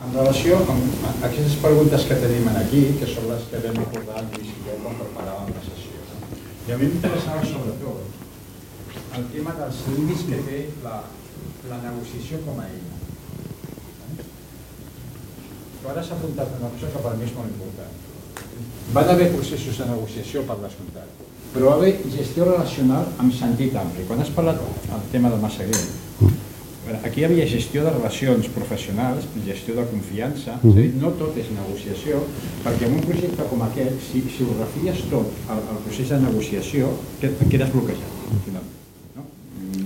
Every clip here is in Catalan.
En relació amb aquestes preguntes que tenim aquí, que són les que vam acordar al Lluís i jo quan preparàvem la sessió, i a mi m'interessava sobretot el tema dels límits que té la negociació com a eina. Però ara s'ha apuntat una cosa que per mi és molt important. Van haver processos de negociació per descomptat, però va haver gestió relacional amb sentit ampli. Quan has parlat del tema de Massaguer, aquí hi havia gestió de relacions professionals, gestió de confiança, és a dir, no tot és negociació, perquè en un projecte com aquest, si ho refies tot al procés de negociació, quedes bloquejat, no?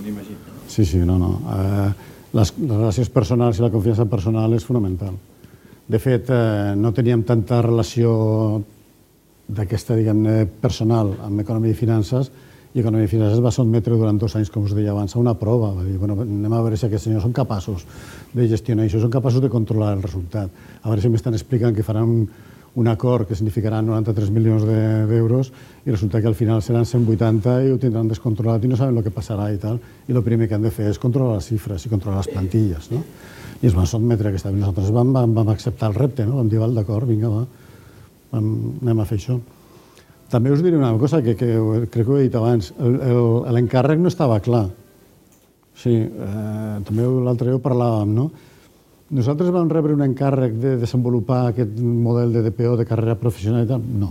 M'imagino. Sí, no. Les relacions personals i la confiança personal és fonamental. De fet, no teníem tanta relació d'aquesta, diguem-ne, personal amb economia i finances, i Economia i Finances va sotmetre durant 2 anys, com us deia abans, a una prova. Va dir, anem a veure si aquests senyors són capaços de gestionar això, són capaços de controlar el resultat. A veure si m'estan explicant que faran un acord que significarà 93 milions d'euros i resulta que al final seran 180 i ho tindran descontrolat i no saben el que passarà i tal. I el primer que han de fer és controlar les xifres i controlar les plantilles. I es van sotmetre a aquesta. Nosaltres vam acceptar el repte, vam dir, d'acord, vinga, va, anem a fer això. També us diré una cosa que crec que ho he dit abans. L'encàrrec no estava clar. Sí, també l'altre dia ho parlàvem, no? Nosaltres vam rebre un encàrrec de desenvolupar aquest model de DPO, de carrera professional i tal? No.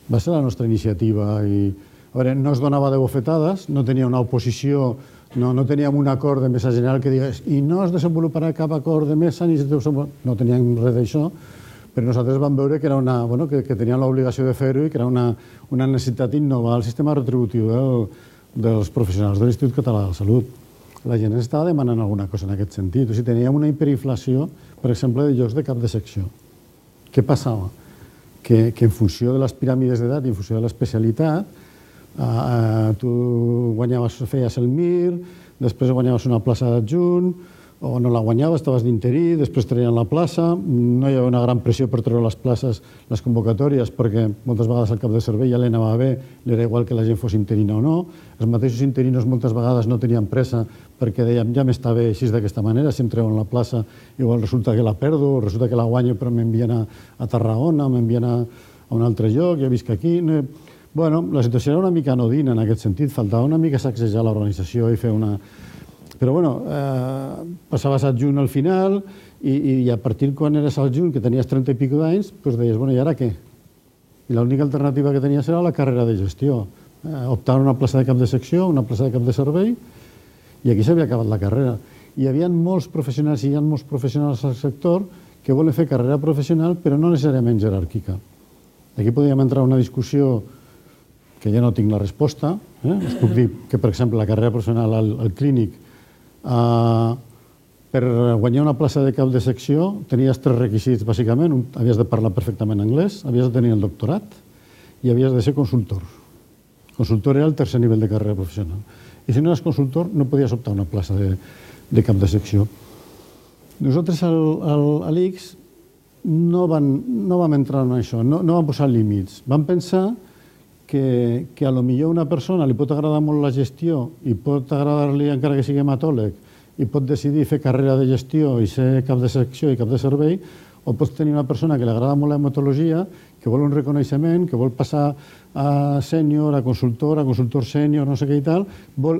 Va ser la nostra iniciativa i... A veure, no es donava de bofetades, no tenia una oposició, no teníem un acord de mesa general que digués i no es desenvoluparà cap acord de mesa ni no teníem res d'això, però nosaltres vam veure que teníem l'obligació de fer-ho i que era una necessitat innovar el sistema retributiu dels professionals de l'Institut Català de la Salut. La gent ens estava demanant alguna cosa en aquest sentit. O sigui, teníem una hiperinflació, per exemple, de llocs de cap de secció. Què passava? Que en funció de les piràmides d'edat i en funció de l'especialitat, tu feies el MIR, després guanyaves una plaça d'adjunt, o no la guanyaves, estaves d'interí, després treien la plaça, no hi havia una gran pressió per treure les places, les convocatòries, perquè moltes vegades el cap de servei ja li anava bé, li era igual que la gent fos interina o no. Els mateixos interinos moltes vegades no tenien pressa perquè dèiem ja m'està bé així d'aquesta manera, si em treuen la plaça igual resulta que la perdo, resulta que la guanyo però m'envien a Tarragona, m'envien a un altre lloc, ja visc aquí. Bueno, la situació era una mica anodina en aquest sentit, faltava una mica sacsejar l'organització i fer una... Però, bueno, passaves adjunt al final i a partir quan eres adjunt, que tenies 30 i pico d'anys, doncs deies, bueno, i ara què? I l'única alternativa que tenies era la carrera de gestió. Optar a una plaça de cap de secció, una plaça de cap de servei, i aquí s'havia acabat la carrera. Hi havia molts professionals i hi ha molts professionals al sector que volen fer carrera professional, però no necessàriament jeràrquica. Aquí podríem entrar en una discussió que ja no tinc la resposta. Us puc dir que, per exemple, la carrera professional al clínic, per guanyar una plaça de cap de secció tenies 3 requisits, bàsicament. Havies de parlar perfectament anglès, havies de tenir el doctorat i havies de ser consultor. Consultor era el tercer nivell de carrera professional. I si no eres consultor, no podies optar a una plaça de cap de secció. Nosaltres a l'ICS no vam entrar en això, no vam posar límits. Vam pensar que a lo millor una persona li pot agradar molt la gestió i pot agradar-li encara que sigui hematòleg i pot decidir fer carrera de gestió i ser cap de secció i cap de servei, o pots tenir una persona que li agrada molt la hematologia, que vol un reconeixement, que vol passar a sènior, a consultor sènior, no sé què i tal.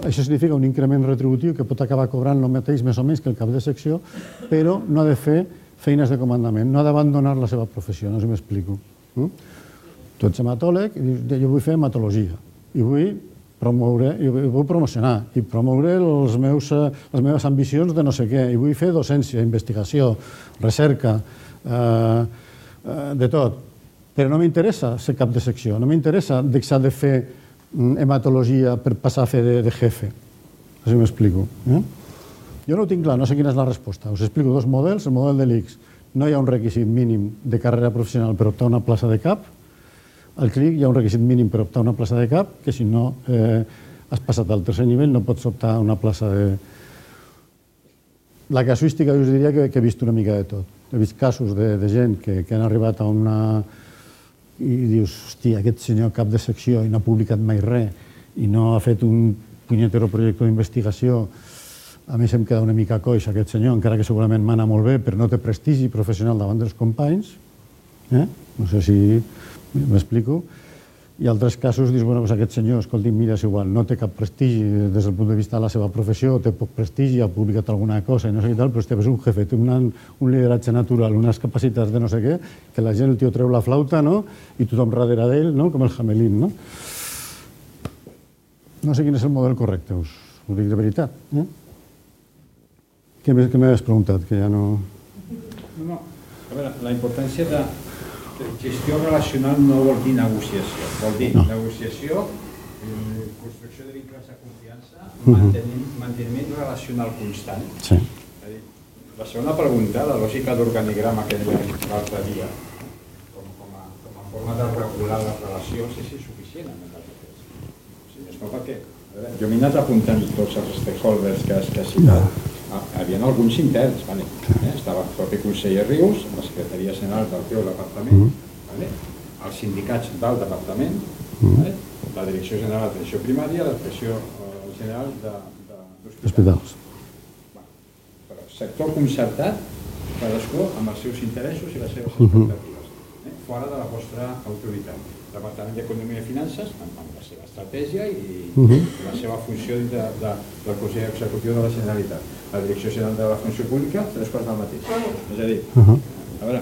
Això significa un increment retributiu que pot acabar cobrant el mateix més o menys que el cap de secció, però no ha de fer feines de comandament, no ha d'abandonar la seva professió, no sé si m'explico. Tu ets hematòleg i dius, jo vull fer hematologia i vull promocionar i promoure les meves ambicions de no sé què, i vull fer docència, investigació, recerca, de tot. Però no m'interessa ser cap de secció, no m'interessa deixar de fer hematologia per passar a fer de jefe. No sé si m'explico. Jo no ho tinc clar, no sé quina és la resposta. Us explico 2 models. El model de l'ICS, no hi ha un requisit mínim de carrera professional per optar a una plaça de cap. Al CLIC hi ha un requisit mínim per optar a una plaça de cap, que si no has passat al tercer nivell no pots optar a una plaça de... La casuística us diria que he vist una mica de tot. He vist casos de gent que han arribat a una... i dius, hòstia, aquest senyor cap de secció i no ha publicat mai res i no ha fet un punyetero projecte d'investigació A més, em queda una mica coix aquest senyor, encara que segurament mana molt bé, però no té prestigi professional davant dels companys. No sé si m'explico. I altres casos dius, bueno, aquest senyor, escolti, mira, és igual, no té cap prestigi des del punt de vista de la seva professió, té poc prestigi, ha publicat alguna cosa i no sé què tal, però és un jefe, té un lideratge natural, unes capacitats de no sé què, que la gent, el tio treu la flauta, no?, i tothom darrere d'ell, no?, com el Hamelin, no? No sé quin és el model correcte, us ho dic de veritat. Què m'havies preguntat, que ja no... No, a veure, la importància de gestió relacional no vol dir negociació, vol dir negociació, construcció de vincles de confiança, manteniment relacional constant. Sí. La segona pregunta, la lògica d'organigrama que dèiem l'altre dia, com a forma de regular les relacions, és insuficient en el cas. És no perquè jo m'he anat apuntant tots els stakeholders que has citat. Hi havia alguns interns, estava el propi conseller Rius, la secretaria general del teu departament, els sindicats del departament, la direcció general d'atenció primària, la direcció general d'hospitals. Però sector concertat, cadascú amb els seus interessos i les seves expectatives, fora de la vostra autoritat. Departament d'Economia i Finances, amb la seva estratègia i la seva funció de la Consell Executiu de la Generalitat. La Direcció General de la Funció Pública, 3 quarts del mateix. És a dir, a veure,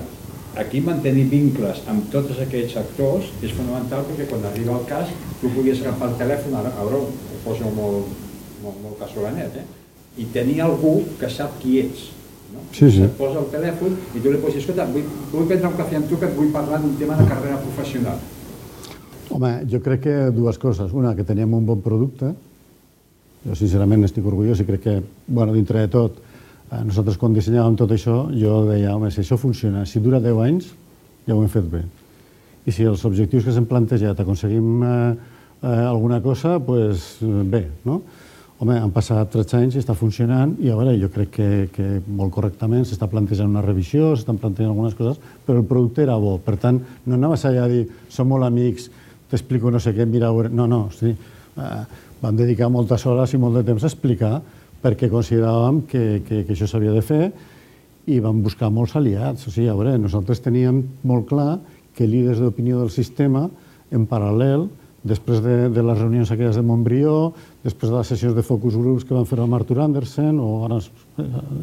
aquí mantenir vincles amb tots aquests actors és fonamental perquè quan arriba el cas tu puguis agafar el telèfon, ara ho poso molt casolanet, i tenir algú que sap qui ets. Et posa el telèfon i tu li pots dir, escolta, vull prendre un cafè amb tu que et vull parlar d'un tema de carrera professional. Home, jo crec que dues coses. Una, que teníem un bon producte. Jo, sincerament, estic orgullós i crec que, bueno, dintre de tot, nosaltres quan dissenyàvem tot això, jo deia, home, si això funciona, si dura 10 anys, ja ho hem fet bé. I si els objectius que s'hem plantejat aconseguim alguna cosa, doncs bé, no? Home, han passat 13 anys i està funcionant i a veure, jo crec que molt correctament s'està plantejant una revisió, s'estan plantejant algunes coses, però el producte era bo. Per tant, no anaves allà a dir, som molt amics, t'explico no sé què, mira... No, vam dedicar moltes hores i molt de temps a explicar perquè consideràvem que això s'havia de fer i vam buscar molts aliats. O sigui, a veure, nosaltres teníem molt clar que líders d'opinió del sistema, en paral·lel, després de les reunions aquelles de Montbrió, després de les sessions de focus groups que van fer amb Arthur Andersen, o ara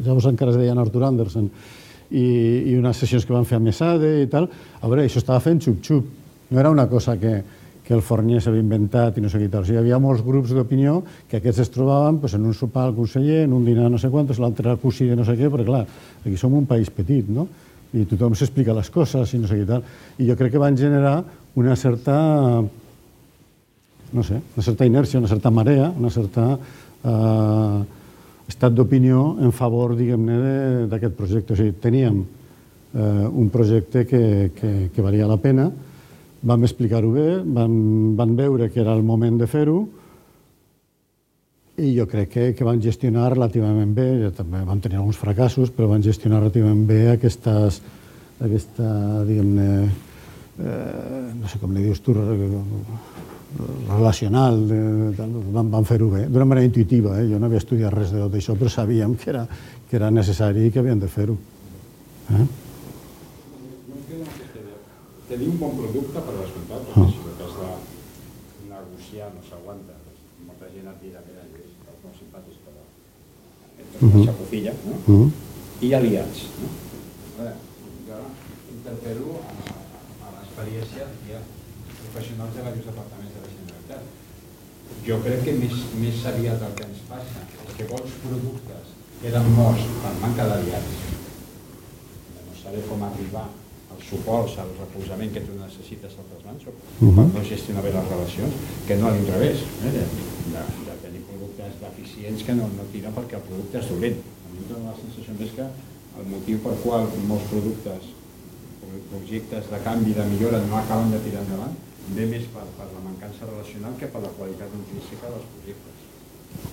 llavors encara es deien Arthur Andersen, i unes sessions que van fer a Mesade i tal, a veure, això estava fent xup-xup. No era una cosa que el Fornier s'havia inventat i no sé què tal. O sigui, hi havia molts grups d'opinió que aquests es trobaven en un sopar al conseller, en un dinar no sé quantos, l'altre al cosí de no sé què, perquè clar, aquí som un país petit, no? I tothom s'explica les coses i no sé què tal. I jo crec que van generar una certa... no sé, una certa inèrcia, una certa marea, una certa estat d'opinió en favor, diguem-ne, d'aquest projecte. O sigui, teníem un projecte que valia la pena, vam explicar-ho bé, van veure que era el moment de fer-ho i jo crec que van gestionar relativament bé, també van tenir alguns fracassos, però van gestionar relativament bé aquesta, diguem-ne, no sé com li dius tu, relacional, van fer-ho bé, d'una manera intuïtiva. Jo no havia estudiat res de tot això, però sabíem que era necessari i que havien de fer-ho. Tenir un bon producte per descomptat, perquè si el cas de negociar no s'aguanta, molta gent et dirà que és molt simpàtic, però entre una xapocilla, i aliats. Jo interpel·lo a l'experiència professionals de diversos departaments de la Generalitat. Jo crec que més aviat el que ens passa és que bons productes queden morts per manca d'aliats, de no saber com arribar als suports, al recolzament que tu necessites a altres mans, per no gestionar bé les relacions, que no a l'inrevés, de tenir productes deficients que no tiren perquè el producte és dolent. A mi em dóna la sensació que el motiu per qual molts projectes de canvi, de millora, no acaben de tirar endavant, ve més per la mancança relacional que per la qualitat intrínseca dels projectes.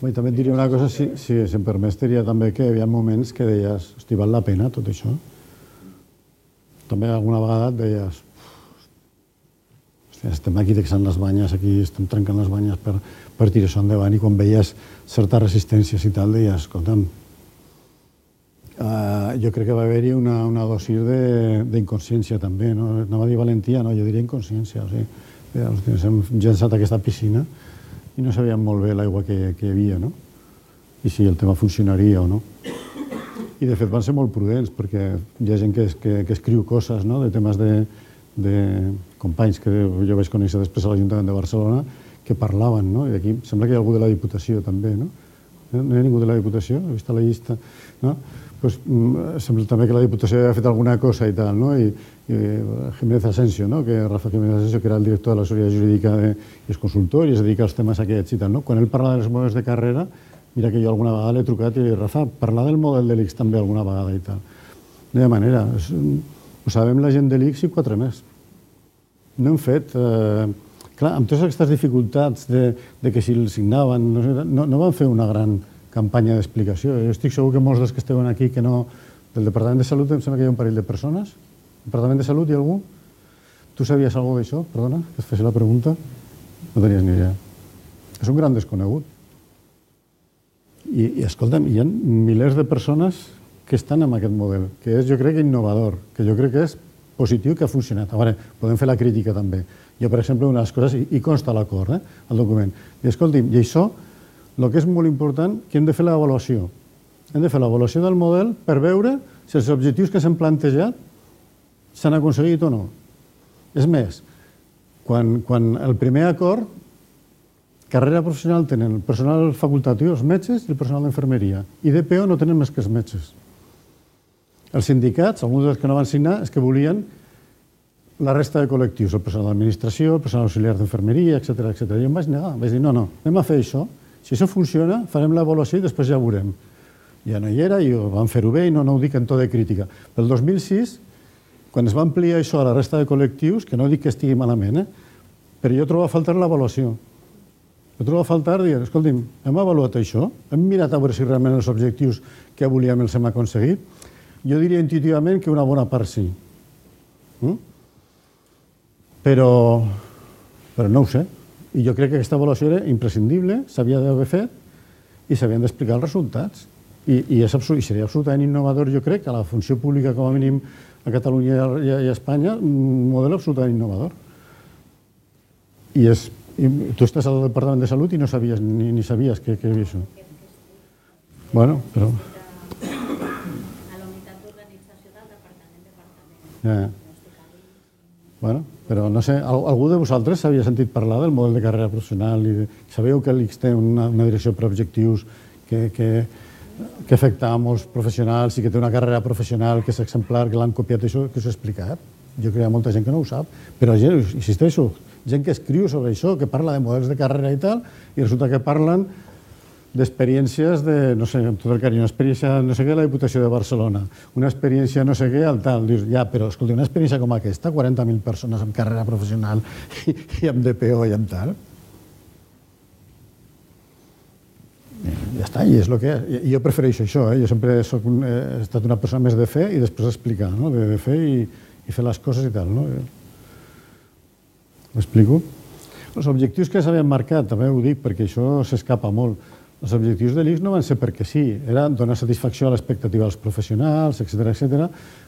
I també et diria una cosa, si em permets, diria també que hi havia moments que deies, hosti, val la pena tot això? També alguna vegada et deies, hòstia, estem aquí texant les banyes, aquí estem trencant les banyes per per tirar això endavant, i quan veies certes resistències i tal, deies, escolta'm, jo crec que va haver-hi una dosi d'inconsciència també, no? Anava a dir valentia, no, jo diria inconsciència, o sigui, ens hem llançat a aquesta piscina i no sabíem molt bé l'aigua que hi havia, no? I si el tema funcionaria o no. I de fet van ser molt prudents, perquè hi ha gent que escriu coses, no?, de temes de companys que jo vaig conèixer després a l'Ajuntament de Barcelona, que parlaven, no? I aquí sembla que hi ha algú de la Diputació també, no? No hi ha ningú de la Diputació? He vist a la llista, no? Pues, sembla també que la Diputació havia fet alguna cosa i tal, no? I Jiménez Asensio, no? Rafa Jiménez Asensio, que era el director de la Societat Jurídica i és consultor i es dedica als temes aquests i tal, no? Quan ell parla dels models de carrera, mira que jo alguna vegada l'he trucat i he dit, Rafa, parlar del model de l'ICS també alguna vegada i tal. No hi ha manera. Ho sabem la gent de l'ICS i 4 més. No hem fet... Clar, amb totes aquestes dificultats de que si el signaven, no van fer una gran campanya d'explicació. Jo estic segur que molts dels que esteu aquí, que no... Del Departament de Salut em sembla que hi ha un parell de persones. Departament de Salut hi ha algú? Tu sabies alguna d'això? Perdona, que et fes la pregunta. No tenies ni idea. És un gran desconegut. I escolta'm, hi ha milers de persones que estan en aquest model, que és, jo crec, innovador, que jo crec que és positiu, que ha funcionat. A veure, podem fer la crítica també. Jo, per exemple, una de les coses, i consta a l'acord, al document, i escolti'm, i això, el que és molt important, que hem de fer l'avaluació. Hem de fer l'avaluació del model per veure si els objectius que s'han plantejat s'han aconseguit o no. És més, quan el primer acord, carrera professional tenen el personal facultatiu, els metges i el personal d'infermeria. I DPO no tenen més que els metges. Els sindicats, alguns dels que no van signar, és que volien la resta de col·lectius, el personal d'administració, el personal auxiliar d'infermeria, etc. Jo em vaig negar, vaig dir, no, anem a fer això. Si això funciona, farem l'avaluació i després ja ho veurem. Ja no hi era i vam fer-ho bé i no ho dic en to de crítica. Pel 2006, quan es va ampliar això a la resta de col·lectius, que no dic que estigui malament, però jo trobo a faltar l'avaluació. Jo trobo a faltar dir, escolti'm, hem avaluat això? Hem mirat a veure si realment els objectius que volíem els hem aconseguit? Jo diria intuïtivament que una bona part sí. Però no ho sé. I jo crec que aquesta avaluació era imprescindible, s'havia d'haver fet i s'havien d'explicar els resultats. I seria absolutament innovador, jo crec, a la funció pública, com a mínim, a Catalunya i a Espanya, un model absolutament innovador. I tu estàs al Departament de Salut i no sabies, ni sabies que hi havia això. Bueno, però... A la unitat d'organització del departament. Bueno, però no sé, algú de vosaltres s'havia sentit parlar del model de carrera professional i sabeu que l'ICS té una direcció per objectius que afecta a molts professionals i que té una carrera professional que és exemplar, que l'han copiat, això que us he explicat. Jo crec que hi ha molta gent que no ho sap, però gent, insisteixo, gent que escriu sobre això, que parla de models de carrera i tal, i resulta que parlen d'experiències de, no sé, amb tot el carinyo, una experiència no sé què a la Diputació de Barcelona, una experiència no sé què al tal. Dius, ja, però escolta, una experiència com aquesta, 40.000 persones amb carrera professional i amb DPO i amb tal, ja està, i és el que és. Jo prefereixo això, jo sempre he estat una persona més de fer i després explicar, de fer i fer les coses i tal. M'explico? Els objectius que s'havien marcat, també ho dic perquè això s'escapa molt, els objectius de l'ICS no van ser perquè sí, era donar satisfacció a l'expectativa dels professionals, etc.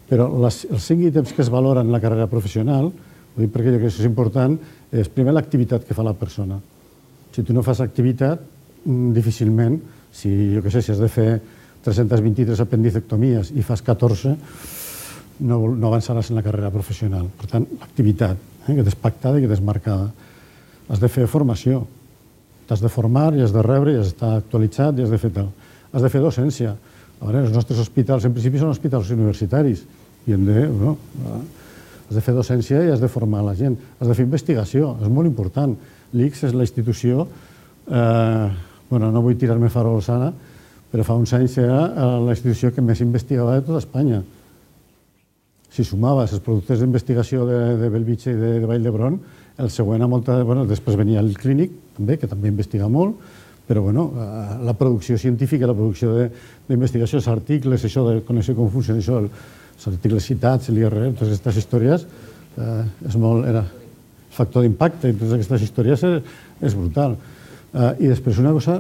Però els 5 ítems que es valoren en la carrera professional, ho dic perquè jo crec que això és important, és primer l'activitat que fa la persona. Si tu no fas activitat, difícilment, si has de fer 323 apendicectomies i fas 14, no avançaràs en la carrera professional. Per tant, l'activitat, que t'és pactada i que t'és marcada. Has de fer formació, t'has de formar i has de rebre i has d'estar actualitzat i has de fer tal. Has de fer docència. A veure, els nostres hospitals, en principi, són hospitals universitaris i has de fer docència i has de formar la gent. Has de fer investigació, és molt important. L'ICS és la institució, no vull tirar-me farols ara, però fa uns anys era la institució que més investigava de tota Espanya. Si sumaves els productes d'investigació de Bellvitge i de Vall d'Hebron, el següent després venia el Clínic, també, que també investiga molt, però la producció científica, la producció d'investigació, els articles, això de conèixer com funciona això, els articles citats, l'IRR, totes aquestes històries, el factor d'impacte i totes aquestes històries és brutal. I després una cosa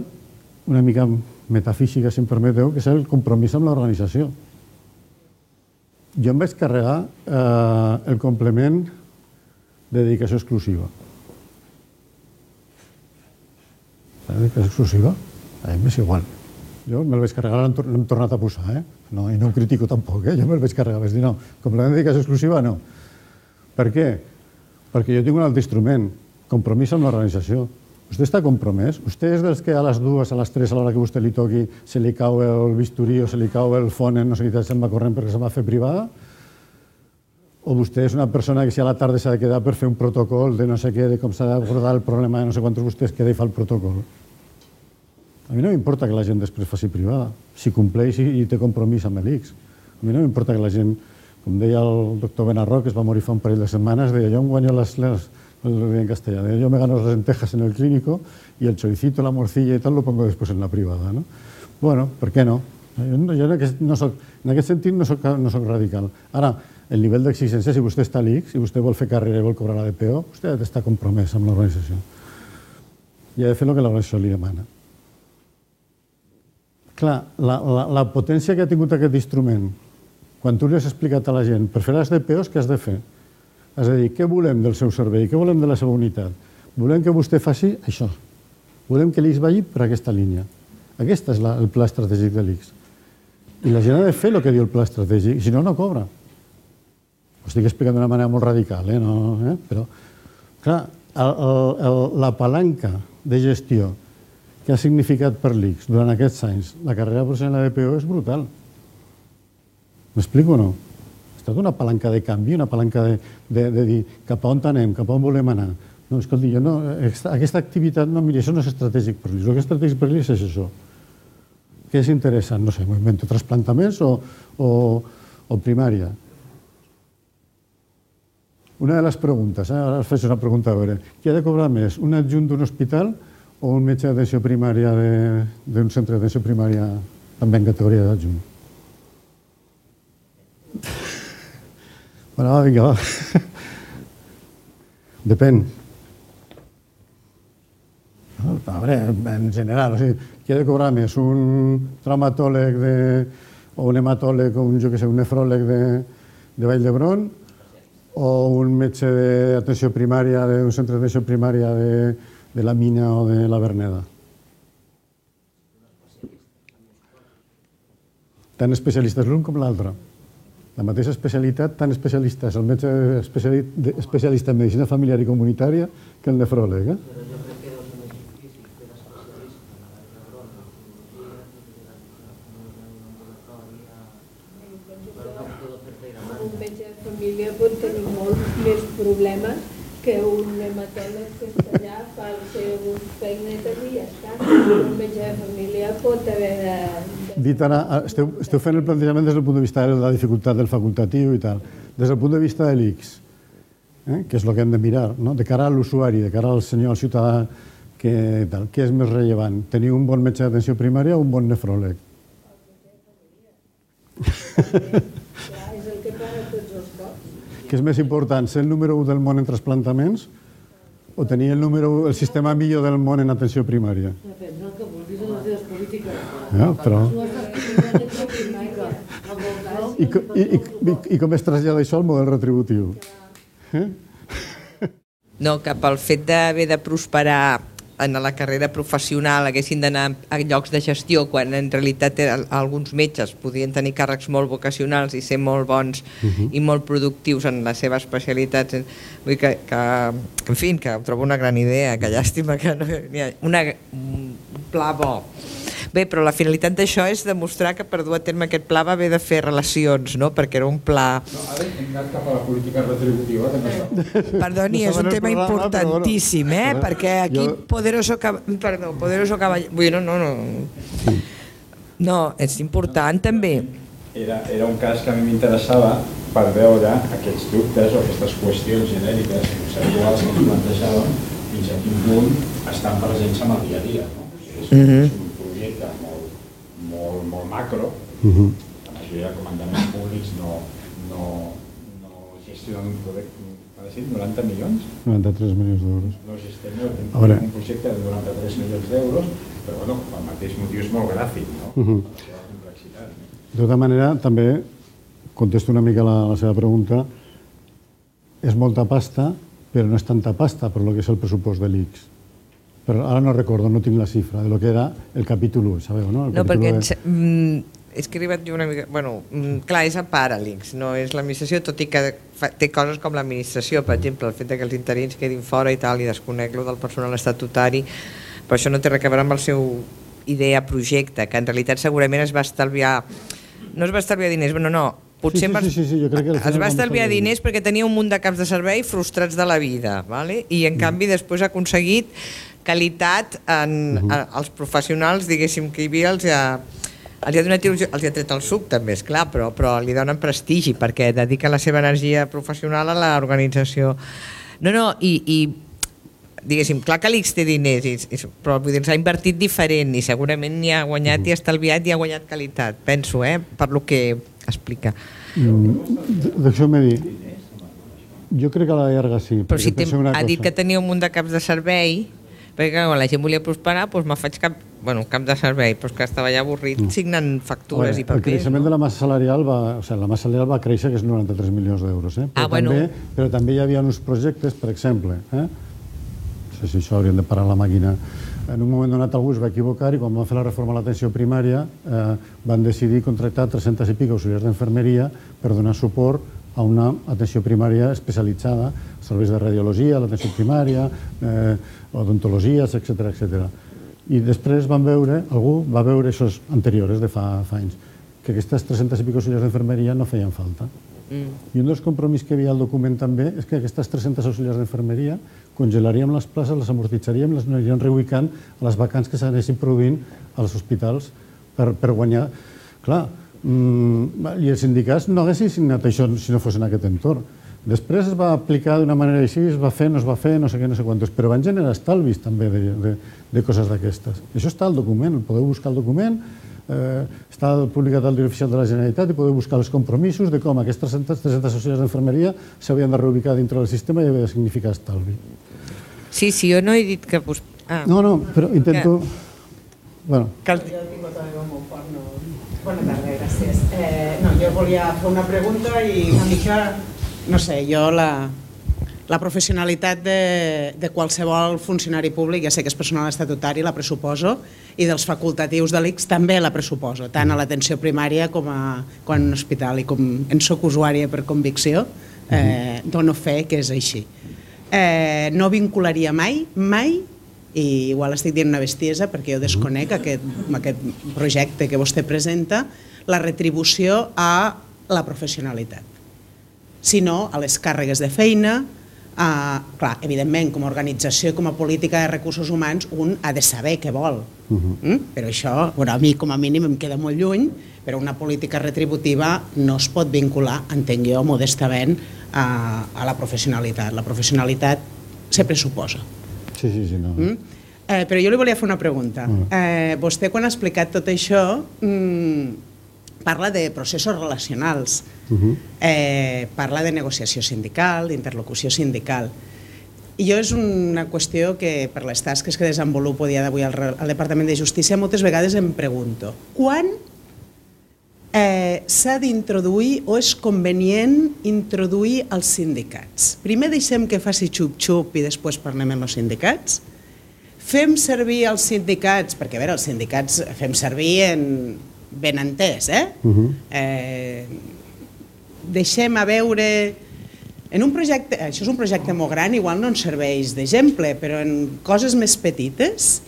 una mica metafísica, si em permeteu, que és el compromís amb l'organització. Jo em vaig carregar el complement de dedicació exclusiva. La dedicació exclusiva, a mi m'és igual. Jo me'l vaig carregar, l'hem tornat a posar, i no ho critico tampoc, jo me'l vaig carregar, vaig dir no, complement de dedicació exclusiva no. Per què? Perquè jo tinc un altre instrument, compromís amb l'organització. Vostè està compromès? Vostè és dels que a les 2, a les 3, a l'hora que vostè li toqui, se li cau el bisturí o se li cau el fònem, no sé què, se'n va corrent perquè se'n va fer privada? O vostè és una persona que si a la tarda s'ha de quedar per fer un protocol de no sé què, de com s'ha d'abordar el problema de no sé quantos, vostè es queda i fa el protocol? A mi no m'importa que la gent després faci privada, si compleix i té compromís amb l'ICS. A mi no m'importa que la gent, com deia el doctor Benarro, que es va morir fa un parell de setmanes, deia, jo em guanyo en castellà, yo me gano las lentejas en el clínico y el choricito, la morcilla y tal lo pongo después en la privada, ¿no? Bueno, ¿por qué no? Jo en aquest sentit no soc radical. Ara, el nivell d'exigència, si vostè està a l'ICS, si vostè vol fer carrera i vol cobrar la DPO, vostè ha d'estar compromès amb l'organització. I ha de fer el que l'organització li demana. Clar, la potència que ha tingut aquest instrument, quan tu li has explicat a la gent, per fer les DPOs, què has de fer? Has de dir, què volem del seu servei, què volem de la seva unitat? Volem que vostè faci això. Volem que l'ICS vagi per aquesta línia. Aquest és el pla estratègic de l'ICS. I la gent ha de fer el que diu el pla estratègic, si no, no cobra. Ho estic explicant d'una manera molt radical, però, clar, la palanca de gestió que ha significat per l'ICS durant aquests anys la carrera professional de DPO és brutal. M'explico o no? Ha estat una palanca de canvi, una palanca de dir cap a on anem, cap a on volem anar. No, escolti, aquesta activitat, no, miri, això no és estratègic per l'ICS. El que és estratègic per l'ICS és això. Què és interessant? No sé, moviment de trasplantaments o primària. Una de les preguntes, ara us faig una pregunta a veure, qui ha de cobrar més, un adjunt d'un hospital o un metge d'atenció primària d'un centre d'atenció primària també en categoria d'adjunt? Bueno, va, vinga, va. Depèn. A veure, en general, qui ha de cobrar més, un traumatòleg o un hematòleg o un nefròleg de Vall d'Hebron o un metge d'atenció primària d'un centre d'atenció primària de la Mina o de la Verneda? Tan especialistes l'un com l'altre. La mateixa especialitat, tan especialista és el metge especialista en medicina familiar i comunitària que el nefròleg. Però jo crec que deu ser més difícil fer l'especialista en la Vall d'Hebron, un metge de família pot tenir molts més problemes que un hematòleg que està allà, fa les seves feinetes i ja està. Un metge de família pot haver de... Dit ara, esteu fent el plantejament des del punt de vista de la dificultat del facultatiu i tal. Des del punt de vista de l'ICS, que és el que hem de mirar, de cara a l'usuari, de cara al senyor, al ciutadà, què és més rellevant? Tenir un bon metge d'atenció primària o un bon nefròleg? Clar, és el que para tots els cops. Què és més important, ser el número 1 del món en trasplantaments o tenir el sistema millor del món en atenció primària? Depèn del que vulguis en les teves polítiques. Però... No estàs fent atenció primària. I com es trasllada això al model retributiu? No, que pel fet d'haver de prosperar en la carrera professional haguessin d'anar a llocs de gestió quan en realitat alguns metges podien tenir càrrecs molt vocacionals i ser molt bons i molt productius en la seva especialitat. Vull dir que en fi, que ho trobo una gran idea, que llàstima que no hi ha un pla bo. Bé, però la finalitat d'això és demostrar que per dur a terme aquest pla va haver de fer relacions, no? Perquè era un pla... No, ara hem anat cap a la política retributiva. Perdoni, és un tema importantíssim, perquè aquí Poderoso Caballero... No, és important també. Era un cas que a mi m'interessava per veure aquests dubtes o aquestes qüestions genèriques conceptuals que ens plantejàvem fins a quin punt estan presents en el dia a dia. És un projecte molt macro, la majoria de comandaments públics no gestiona un projecte, ha de ser 90 milions. 93 milions d'euros. No gestiono veure. un projecte de 93 milions d'euros, però bueno, pel mateix motiu és molt gràfic, no? La seva complexitat. De tota manera, també contesto una mica la seva pregunta. És molta pasta, però no és tanta pasta per lo que és el pressupost de l'ICS. Però ara no recordo, no tinc la xifra de lo que era el capítol 1, sabeu, no? No, perquè és que he arribat jo una mica... Bueno, clar, és a part l'ICS, no és l'administració, tot i que té coses com l'administració, per exemple, el fet que els interins quedin fora i tal, i desconec lo del personal estatutari, però això no té res a veure amb el seu idea projecte, que en realitat segurament es va estalviar... No es va estalviar diners, no, potser jo crec que es va estalviar diners perquè tenia un munt de caps de servei frustrats de la vida, ¿vale? I en canvi després ha aconseguit qualitat als professionals, diguéssim, que hi havia, els ha tret el suc també, esclar, però li donen prestigi perquè dedica la seva energia professional a l'organització. I diguéssim, clar que l'ICS té diners, però s'ha invertit diferent i segurament n'hi ha guanyat i ha estalviat i ha guanyat qualitat, penso, per lo que explica. Deixeu-me dir, jo crec que a la llarga sí. Però si ha dit que tenia un munt de caps de servei, perquè quan la gent volia prosperar, doncs me faig cap de servei, però que estava ja avorrit signant factures i papers. El creixement de la massa salarial va créixer, que és 93 milions d'euros. Però també hi havia uns projectes, per exemple, no sé si això hauríem de parar la màquina, en un moment donat algú es va equivocar i quan van fer la reforma a l'atenció primària van decidir contractar 300 i pico auxiliars d'enfermeria per donar suport a una atenció primària especialitzada, serveis de radiologia, l'atenció primària, odontologies, etc. I després algú va veure, això anteriors, de fa anys, que aquestes 300 i pico auxiliars d'enfermeria no feien falta. I un dels compromisos que hi havia al document també és que aquestes 300 auxiliars d'enfermeria congelaríem les places, les amortitzariem, les aniríem reubicant a les vacants que s'anessin produint als hospitals per guanyar. Clar, i els sindicats no haguessin signat això si no fos en aquest entorn. Després es va aplicar d'una manera així, es va fer, no es va fer, no sé què, no sé quantos, però van generar estalvis també de coses d'aquestes. Això està al document, podeu buscar el document, està publicat al Diari Oficial de la Generalitat i podeu buscar els compromisos de com aquestes 300 auxiliars d'enfermeria s'havien de reubicar dintre del sistema i havia de significar estalvi. Sí, jo no he dit que... No, però intento... Bona tarda, gràcies. Jo volia fer una pregunta i una mica, no sé, jo la professionalitat de qualsevol funcionari públic, ja sé que és personal estatutari, la pressuposo, i dels facultatius de l'ICS també la pressuposo, tant a l'atenció primària com a un hospital, i com en soc usuària per convicció, dono fe que és així. No vincularia mai, i igual estic dient una bestiesa perquè jo desconec aquest projecte que vostè presenta, la retribució a la professionalitat, sinó a les càrregues de feina. Clar, evidentment, com a organització i com a política de recursos humans, un ha de saber què vol. Però això, a mi com a mínim em queda molt lluny, però una política retributiva no es pot vincular, entenc jo, modestament, a la professionalitat. La professionalitat se pressuposa. Sí, no. Però jo li volia fer una pregunta. Vostè, quan ha explicat tot això, parla de processos relacionals, parla de negociació sindical, d'interlocució sindical. I jo és una qüestió que, per les tasques que desenvolupo dia d'avui al Departament de Justícia, moltes vegades em pregunto quan s'ha d'introduir o és convenient introduir els sindicats. Primer deixem que faci xup-xup i després parlem amb els sindicats. Fem servir els sindicats, perquè a veure, els sindicats fem servir ben entès, deixem a veure... En un projecte, això és un projecte molt gran, igual no ens serveix d'exemple, però en coses més petites,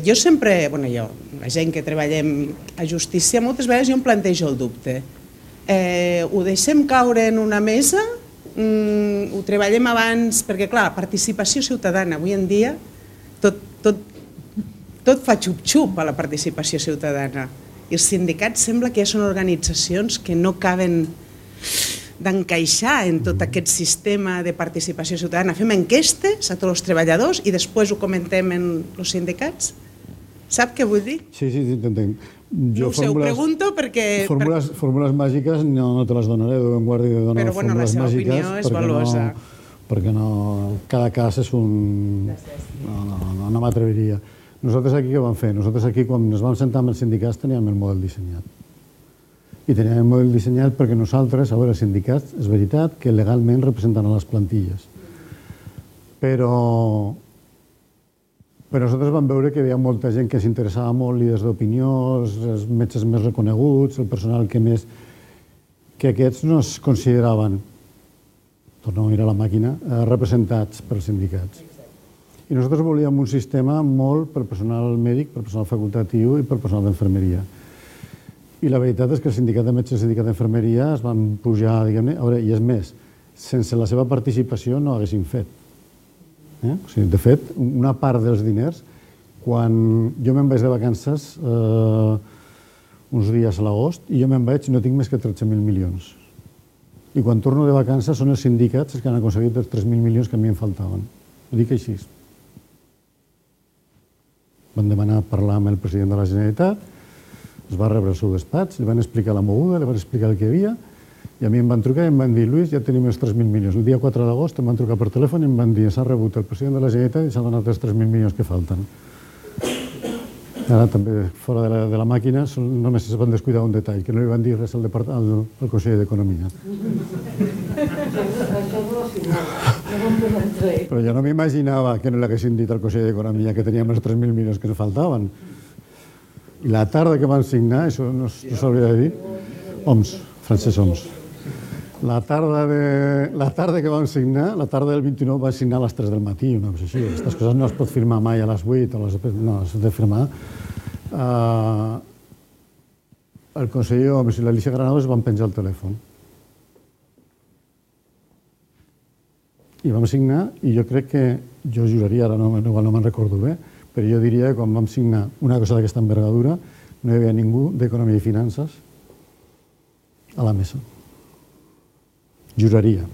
jo sempre, la gent que treballem a justícia, moltes vegades jo em plantejo el dubte. Ho deixem caure en una mesa, ho treballem abans, perquè clar, participació ciutadana, avui en dia, tot fa xup-xup a la participació ciutadana. I els sindicats sembla que ja són organitzacions que no caben d'encaixar en tot aquest sistema de participació ciutadana. Fem enquestes a tots els treballadors i després ho comentem en els sindicats? Sap què vull dir? Sí, t'entenc. No ho sé, ho pregunto perquè... Fórmules màgiques no te les donaré, Déu en guardi de donar Però, bueno, la fórmules seva màgiques. opinió és valuosa. Perquè no... Cada cas és un... No m'atreviria. Nosaltres aquí què vam fer? Nosaltres aquí, quan ens vam sentar amb els sindicats, teníem el model dissenyat. I teníem el model dissenyat perquè nosaltres, a veure, els sindicats, és veritat que legalment representen a les plantilles. Però nosaltres vam veure que hi havia molta gent que s'interessava molt, líders d'opinió, els metges més reconeguts, el personal que més... que aquests no es consideraven, tornem a mirar la màquina, representats pels sindicats. I nosaltres volíem un sistema molt per personal mèdic, per personal facultatiu i per personal d'infermeria. I la veritat és que el sindicat de metges i el sindicat d'infermeria es van pujar, diguem-ne, i és més, sense la seva participació no haguessin fet. O sigui, de fet, una part dels diners, quan jo me'n vaig de vacances uns dies a l'agost, i jo me'n vaig i no tinc més que 13.000 milions. I quan torno de vacances són els sindicats els que han aconseguit els 3.000 milions que a mi em faltaven. Ho dic així. Van demanar parlar amb el president de la Generalitat, es va rebre al seu despatx, li van explicar la moguda, li van explicar el que hi havia, i a mi em van trucar i em van dir, Lluís, ja tenim els 3.000 milions. El dia 4 d'agost em van trucar per telèfon i em van dir, s'ha rebut el president de la Generalitat i s'ha donat els 3.000 milions que falten. Ara també, fora de la màquina, només es van descuidar un detall, que no li van dir res al conseller d'Economia. Però jo no m'imaginava que no l'haguessin dit al conseller d'Economia que teníem els 3.000 milions que ens faltaven. I la tarda que van signar, això no s'hauria de dir, Oms, Francesc Oms. La tarda que vam signar, la tarda del 29 vam signar a les 3 del matí, una cosa així. Aquestes coses no es pot firmar mai a les 8, no, s'ha de firmar. El conseller Oms i l'Alicia Granados van penjar el telèfon. I vam signar, i jo crec que, jo juraria, ara no me'n recordo bé, però jo diria que quan vam signar una cosa d'aquesta envergadura no hi havia ningú d'Economia i Finances a la mesa. Juraria.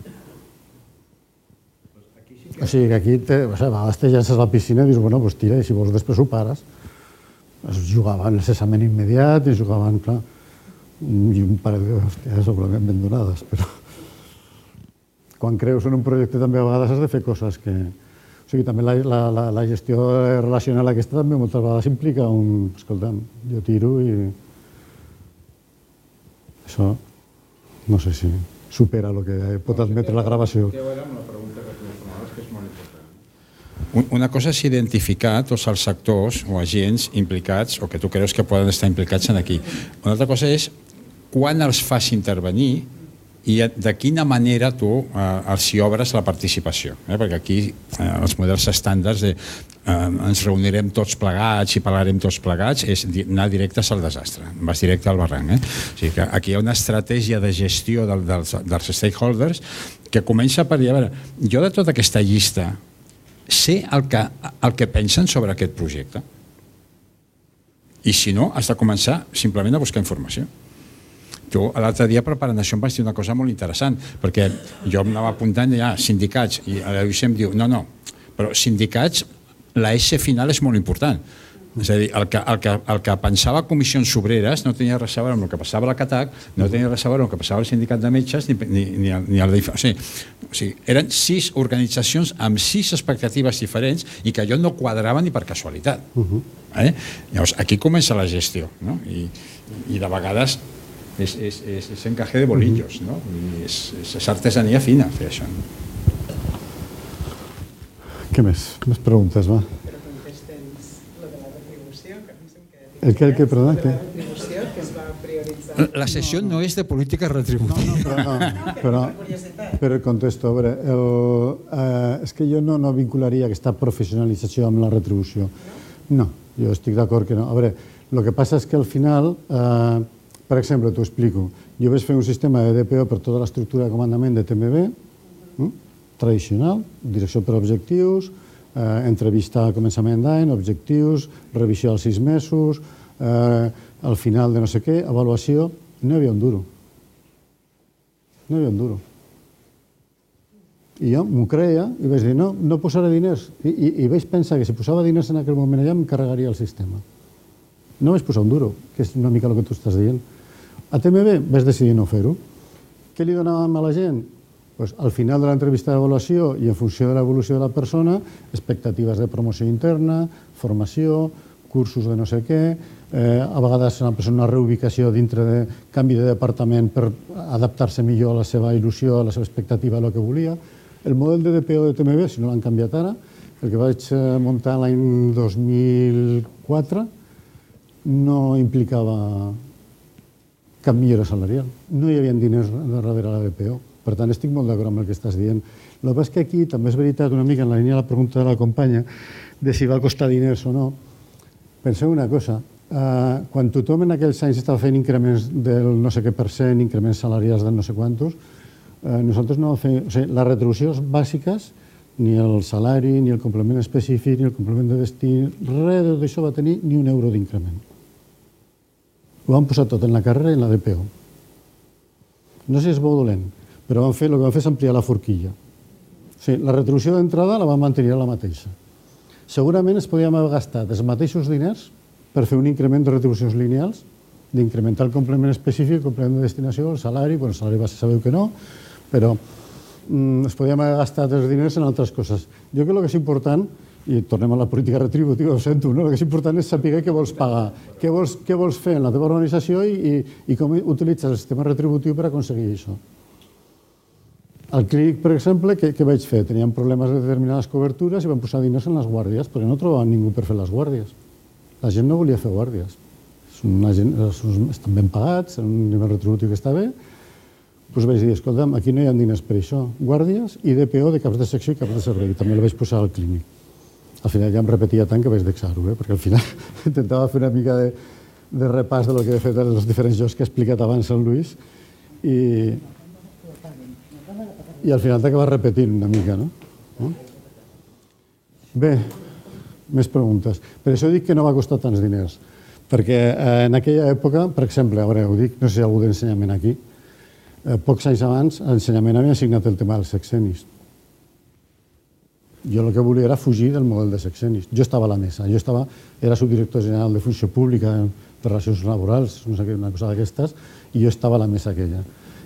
O sigui que aquí, a vegades te llences a la piscina i dius, bueno, doncs tira, i si vols després ho pares. Es jugaven el cessament immediat i jugaven, clar, i un parell d'hòsties segurament ben donades, però quan creus en un projecte també a vegades has de fer coses que... O sigui, també la gestió relacional aquesta també moltes vegades implica un... Escolta'm, jo tiro i... Això, no sé si supera el que pot admetre la gravació. Una cosa és identificar tots els sectors o agents implicats o que tu creus que poden estar implicats aquí. Una altra cosa és quan els fas intervenir i de quina manera tu els hi obres la participació. Perquè aquí els models estàndards ens reunirem tots plegats i parlarem tots plegats és anar directes al desastre, vas directe al barranc. O sigui que aquí hi ha una estratègia de gestió dels stakeholders que comença per dir, a veure, jo de tota aquesta llista sé el que pensen sobre aquest projecte i si no has de començar simplement a buscar informació. Tu l'altre dia preparant això em vas dir una cosa molt interessant, perquè jo em anava apuntant ja sindicats i la Lluís em diu, no, però sindicats, la S final és molt important. És a dir, el que pensava Comissions Obreres no tenia res a veure amb el que passava a la CATAC, no tenia res a veure amb el que passava al Sindicat de Metges ni al DIF. O sigui, eren 6 organitzacions amb 6 expectatives diferents i que allò no quadrava ni per casualitat. Llavors, aquí comença la gestió, i de vegades és encaje de bolillos, no? És artesania fina fer això. Què més? Més preguntes, va. Però contesta'ns lo de la retribució, que pensem que... El que, perdó? La retribució que es va prioritzar. La sessió no és de política retributiva. Però contesto, a veure, és que jo no vincularia aquesta professionalització amb la retribució. No, jo estic d'acord que no. A veure, el que passa és que al final... Per exemple, t'ho explico. Jo vaig fer un sistema de DPO per tota l'estructura de comandament de TMB, tradicional, direcció per objectius, entrevista a començament d'any, objectius, revisió als 6 mesos, al final de no sé què, avaluació. No hi havia un duro. No hi havia un duro. I jo m'ho creia i vaig dir, no posaré diners. I vaig pensar que si posava diners en aquell moment allà em carregaria el sistema. No vaig posar un duro, que és una mica el que tu estàs dient. A TMB vaig decidir no fer-ho. Què li donàvem a la gent? Pues, al final de l'entrevista d'avaluació i en funció de l'evolució de la persona, expectatives de promoció interna, formació, cursos de no sé què, a vegades una reubicació dintre de canvi de departament per adaptar-se millor a la seva il·lusió, a la seva expectativa, a el que volia. El model de DPO de TMB, si no l'han canviat ara, el que vaig muntar l'any 2004, no implicava cap millora salarial. No hi havia diners darrere la DPO. Per tant, estic molt d'acord amb el que estàs dient. El que passa és que aquí també és veritat, una mica en la línia de la pregunta de la companya, de si va costar diners o no. Penseu una cosa, quan tothom en aquells anys estava fent increments del no sé què %, increments salarials del no sé quantos, nosaltres no vam fer... O sigui, les retribucions bàsiques, ni el salari, ni el complement específic, ni el complement de destí, res de tot això va tenir ni un euro d'increment. Ho vam posar tot en la carrera i en la DPO. No sé si és bo o dolent, però el que vam fer és ampliar la forquilla. O sigui, la retribució d'entrada la vam mantenir la mateixa. Segurament es podíem haver gastat els mateixos diners per fer un increment de retribucions lineals, d'incrementar el complement específic, el complement de destinació, el salari base sabeu que no, però es podíem haver gastat els diners en altres coses. Jo crec que el que és important, i tornem a la política retributiva, ho sento, no? El que és important és saber què vols pagar, què vols fer en la teva organització i com utilitzes el sistema retributiu per aconseguir això. Al clínic, per exemple, què vaig fer? Teníem problemes de determinades cobertures i vam posar diners en les guàrdies, perquè no trobàvem ningú per fer les guàrdies. La gent no volia fer guàrdies. Estan ben pagats, en un nivell retributiu que està bé. Doncs vaig dir, escolta'm, aquí no hi ha diners per això. Guàrdies i DPO de caps de secció i caps de servei. També la vaig posar al clínic. Al final ja em repetia tant que vaig deixar-ho, perquè al final intentava fer una mica de repàs del que he fet en els diferents jocs que ha explicat abans el Lluís i al final t'acabes repetint una mica, no? Bé, més preguntes. Per això dic que no va costar tants diners, perquè en aquella època, per exemple, ara ho dic, no sé si hi ha algú d'ensenyament aquí, pocs anys abans, a l'ensenyament havia assignat el tema dels sexenis. Jo el que volia era fugir del model de sexenis. Jo estava a la mesa, era subdirector general de Funció Pública per Relacions Laborals, una cosa d'aquestes, i jo estava a la mesa aquella.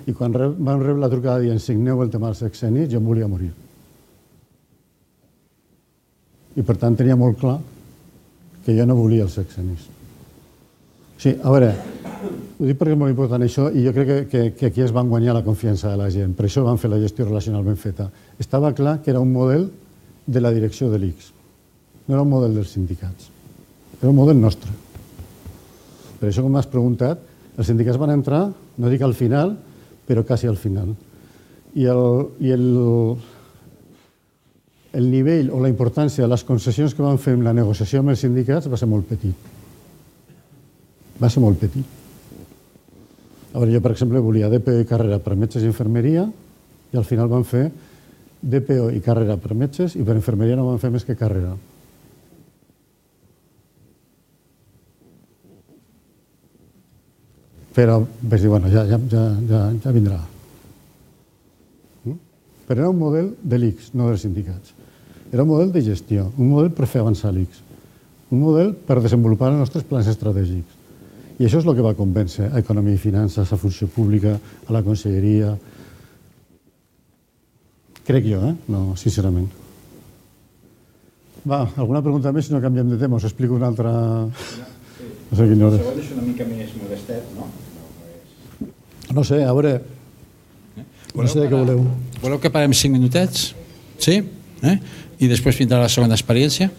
I quan vam rebre la trucada dient signeu el tema dels sexenis, jo em volia morir. I per tant tenia molt clar que jo no volia els sexenis. Sí, a veure, ho dic perquè és molt important això i jo crec que aquí es van guanyar la confiança de la gent. Per això vam fer la gestió relacional ben feta. Estava clar que era un model de la direcció de l'ICS. No era un model dels sindicats. Era un model nostre. Per això, com m'has preguntat, els sindicats van entrar, no dic al final, però quasi al final. I el nivell o la importància de les concessions que vam fer en la negociació amb els sindicats va ser molt petit. Va ser molt petit. A veure, jo, per exemple, volia DPO i carrera per metges i infermeria i al final vam fer DPO i carrera per metges i per infermeria no vam fer més que carrera. Però vaig dir, bueno, ja vindrà. Però era un model de l'ICS, no dels sindicats. Era un model de gestió, un model per fer avançar l'ICS, un model per desenvolupar els nostres plans estratègics. I això és el que va convèncer a Economia i Finances, a Funció Pública, a la Conselleria. Crec jo, no, sincerament. Va, alguna pregunta més, si no canviem de tema, us explico una altra... No sé quina hora. Segons és una mica més modestet, no? No sé, a veure... No sé de què voleu. Voleu que parem 5 minutets? Sí? I després vindrà la segona experiència?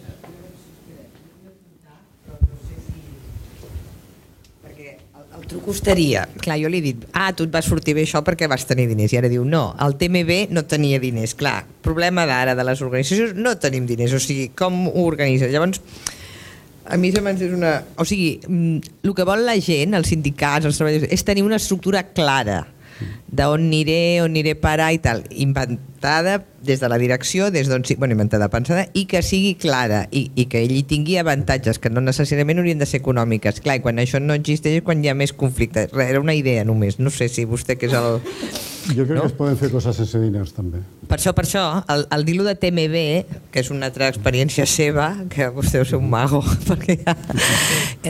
Perquè el truc costaria... Clar, jo li he dit, tu et va sortir bé això perquè vas tenir diners. I ara diu, no, el TMB no tenia diners. Clar, problema d'ara de les organitzacions, no tenim diners. O sigui, com ho organitzes? Llavors... A mi és una... O sigui, el que vol la gent, els sindicats, els treballadors, és tenir una estructura clara d'on aniré a parar i tal, inventada des de la direcció, inventada, pensada, i que sigui clara i que ell hi tingui avantatges que no necessàriament haurien de ser econòmiques. Clar, i quan això no existeix és quan hi ha més conflicte. Era una idea només, no sé si vostè que és el... Jo crec que es poden fer coses sense diners, també. Per això, el dir-lo de TMB, que és una altra experiència seva, que vostè deu ser un mago, perquè ja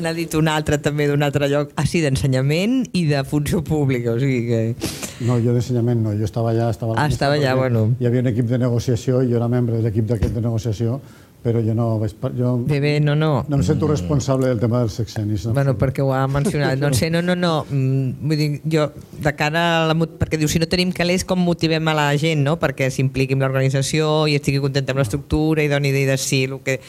n'ha dit un altre també d'un altre lloc, així d'ensenyament i de funció pública, o sigui que... No, jo d'ensenyament no, jo estava allà... Estava allà, bueno. Hi havia un equip de negociació, jo era membre de l'equip d'aquest de negociació, però jo no vaig... Bé, no. No em sento responsable del tema dels sexenis. No? Bueno, perquè ho ha mencionat. No sé, no. Vull dir, jo, de cara a la... Perquè diu, si no tenim calés, com motivem a la gent, no? Perquè s'impliqui amb l'organització i estigui contenta amb l'estructura i doni idees sí, el que...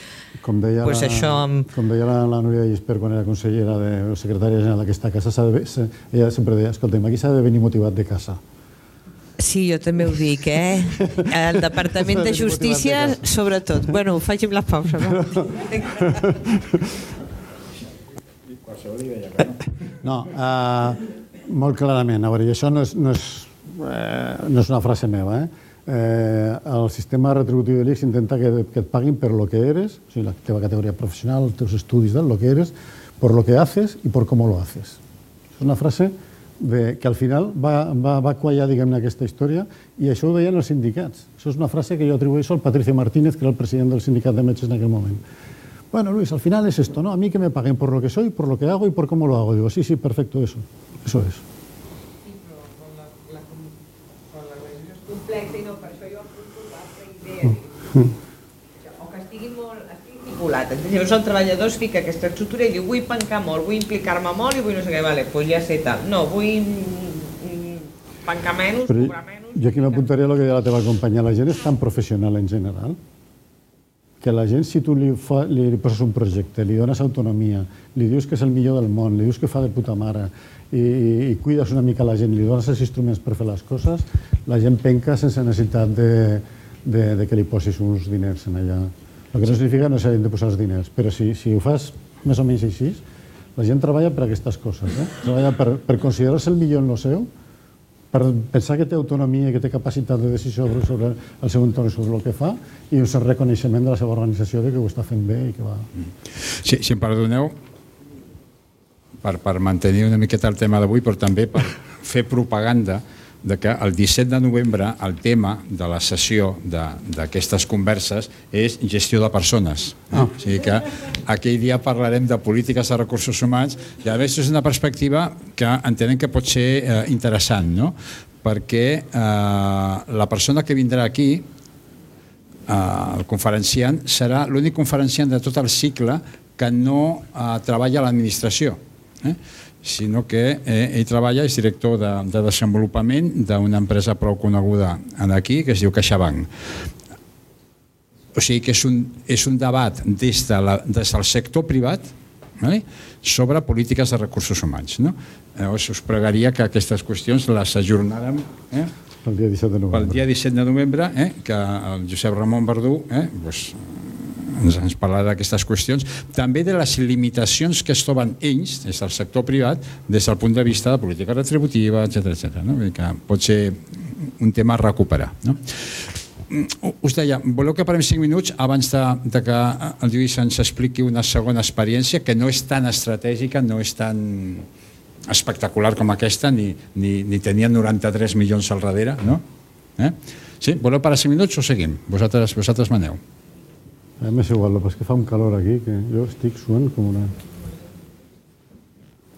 Com deia, pues això... com deia la Núria Gispert quan era consellera de secretària general d'aquesta casa, ella sempre deia, escolta'm, aquí s'ha de venir motivat de casa. Sí, jo també ho dic, El Departament de Justícia, sobretot. Bueno, faci'm la pausa, no? No, molt clarament. A veure, i això no és una frase meva, el sistema retributiu de l'ICS intenta que et paguin per lo que eres, o sigui, la teva categoria professional, els teus estudis, lo que eres, por lo que haces y por cómo lo haces. És una frase que al final va quallar, diguem-ne, aquesta història, i això ho deien els sindicats. Això és una frase que jo atribueixo al Patricio Martínez, que era el president del sindicat de metges en aquell moment. Bueno, Luis, al final es esto, ¿no? A mí que me paguen por lo que soy, por lo que hago y por cómo lo hago. Digo, sí, perfecto, eso es. Sí, però con la legislació és complexa i no, per això jo apunto l'altra idea. O que estigui molt articulat. Llavors el treballador es fica aquesta estructura i diu vull pencar molt, vull implicar-me molt i vull no sé què, vale, pues ja sé tal. No, vull pencar menys, cobrar menys... Jo aquí m'apuntaria a el que deia la teva companya. La gent és tan professional en general que la gent, si tu li poses un projecte, li dones autonomia, li dius que és el millor del món, li dius que fa de puta mare i cuides una mica la gent, li dones els instruments per fer les coses, la gent penca sense necessitat de que li posis uns diners en allà. El que no significa no s'hagin de posar els diners, però si ho fas més o menys així, la gent treballa per aquestes coses. Treballa per considerar-se el millor en el seu, per pensar que té autonomia i que té capacitat de decisió sobre el seu entorn i sobre el que fa, i un cert reconeixement de la seva organització de que ho està fent bé i que va... Si em perdoneu, per mantenir una miqueta el tema d'avui, però també per fer propaganda de que el 17 de novembre el tema de la sessió d'aquestes converses és gestió de persones. O sigui que aquell dia parlarem de polítiques de recursos humans i a més és una perspectiva que entenem que pot ser interessant, no? Perquè la persona que vindrà aquí, el conferenciant, serà l'únic conferenciant de tot el cicle que no treballa a l'administració, sinó que ell treballa, és director de desenvolupament d'una empresa prou coneguda aquí, que es diu CaixaBank. O sigui que és un debat des del sector privat sobre polítiques de recursos humans. Llavors us pregaria que aquestes qüestions les ajornàrem pel dia 17 de novembre, que el Josep Ramon Verdú ens parlarà d'aquestes qüestions, també de les limitacions que es troben ells, des del sector privat, des del punt de vista de política retributiva, etc. Que pot ser un tema a recuperar. Us deia, voleu que parem 5 minuts abans de que el Lluís ens expliqui una segona experiència que no és tan estratègica, no és tan espectacular com aquesta, ni tenia 93 milions al darrere, no? Sí? Voleu parar 5 minuts o seguim? Vosaltres maneu. M'és igual, però és que fa un calor aquí que jo estic suant com una...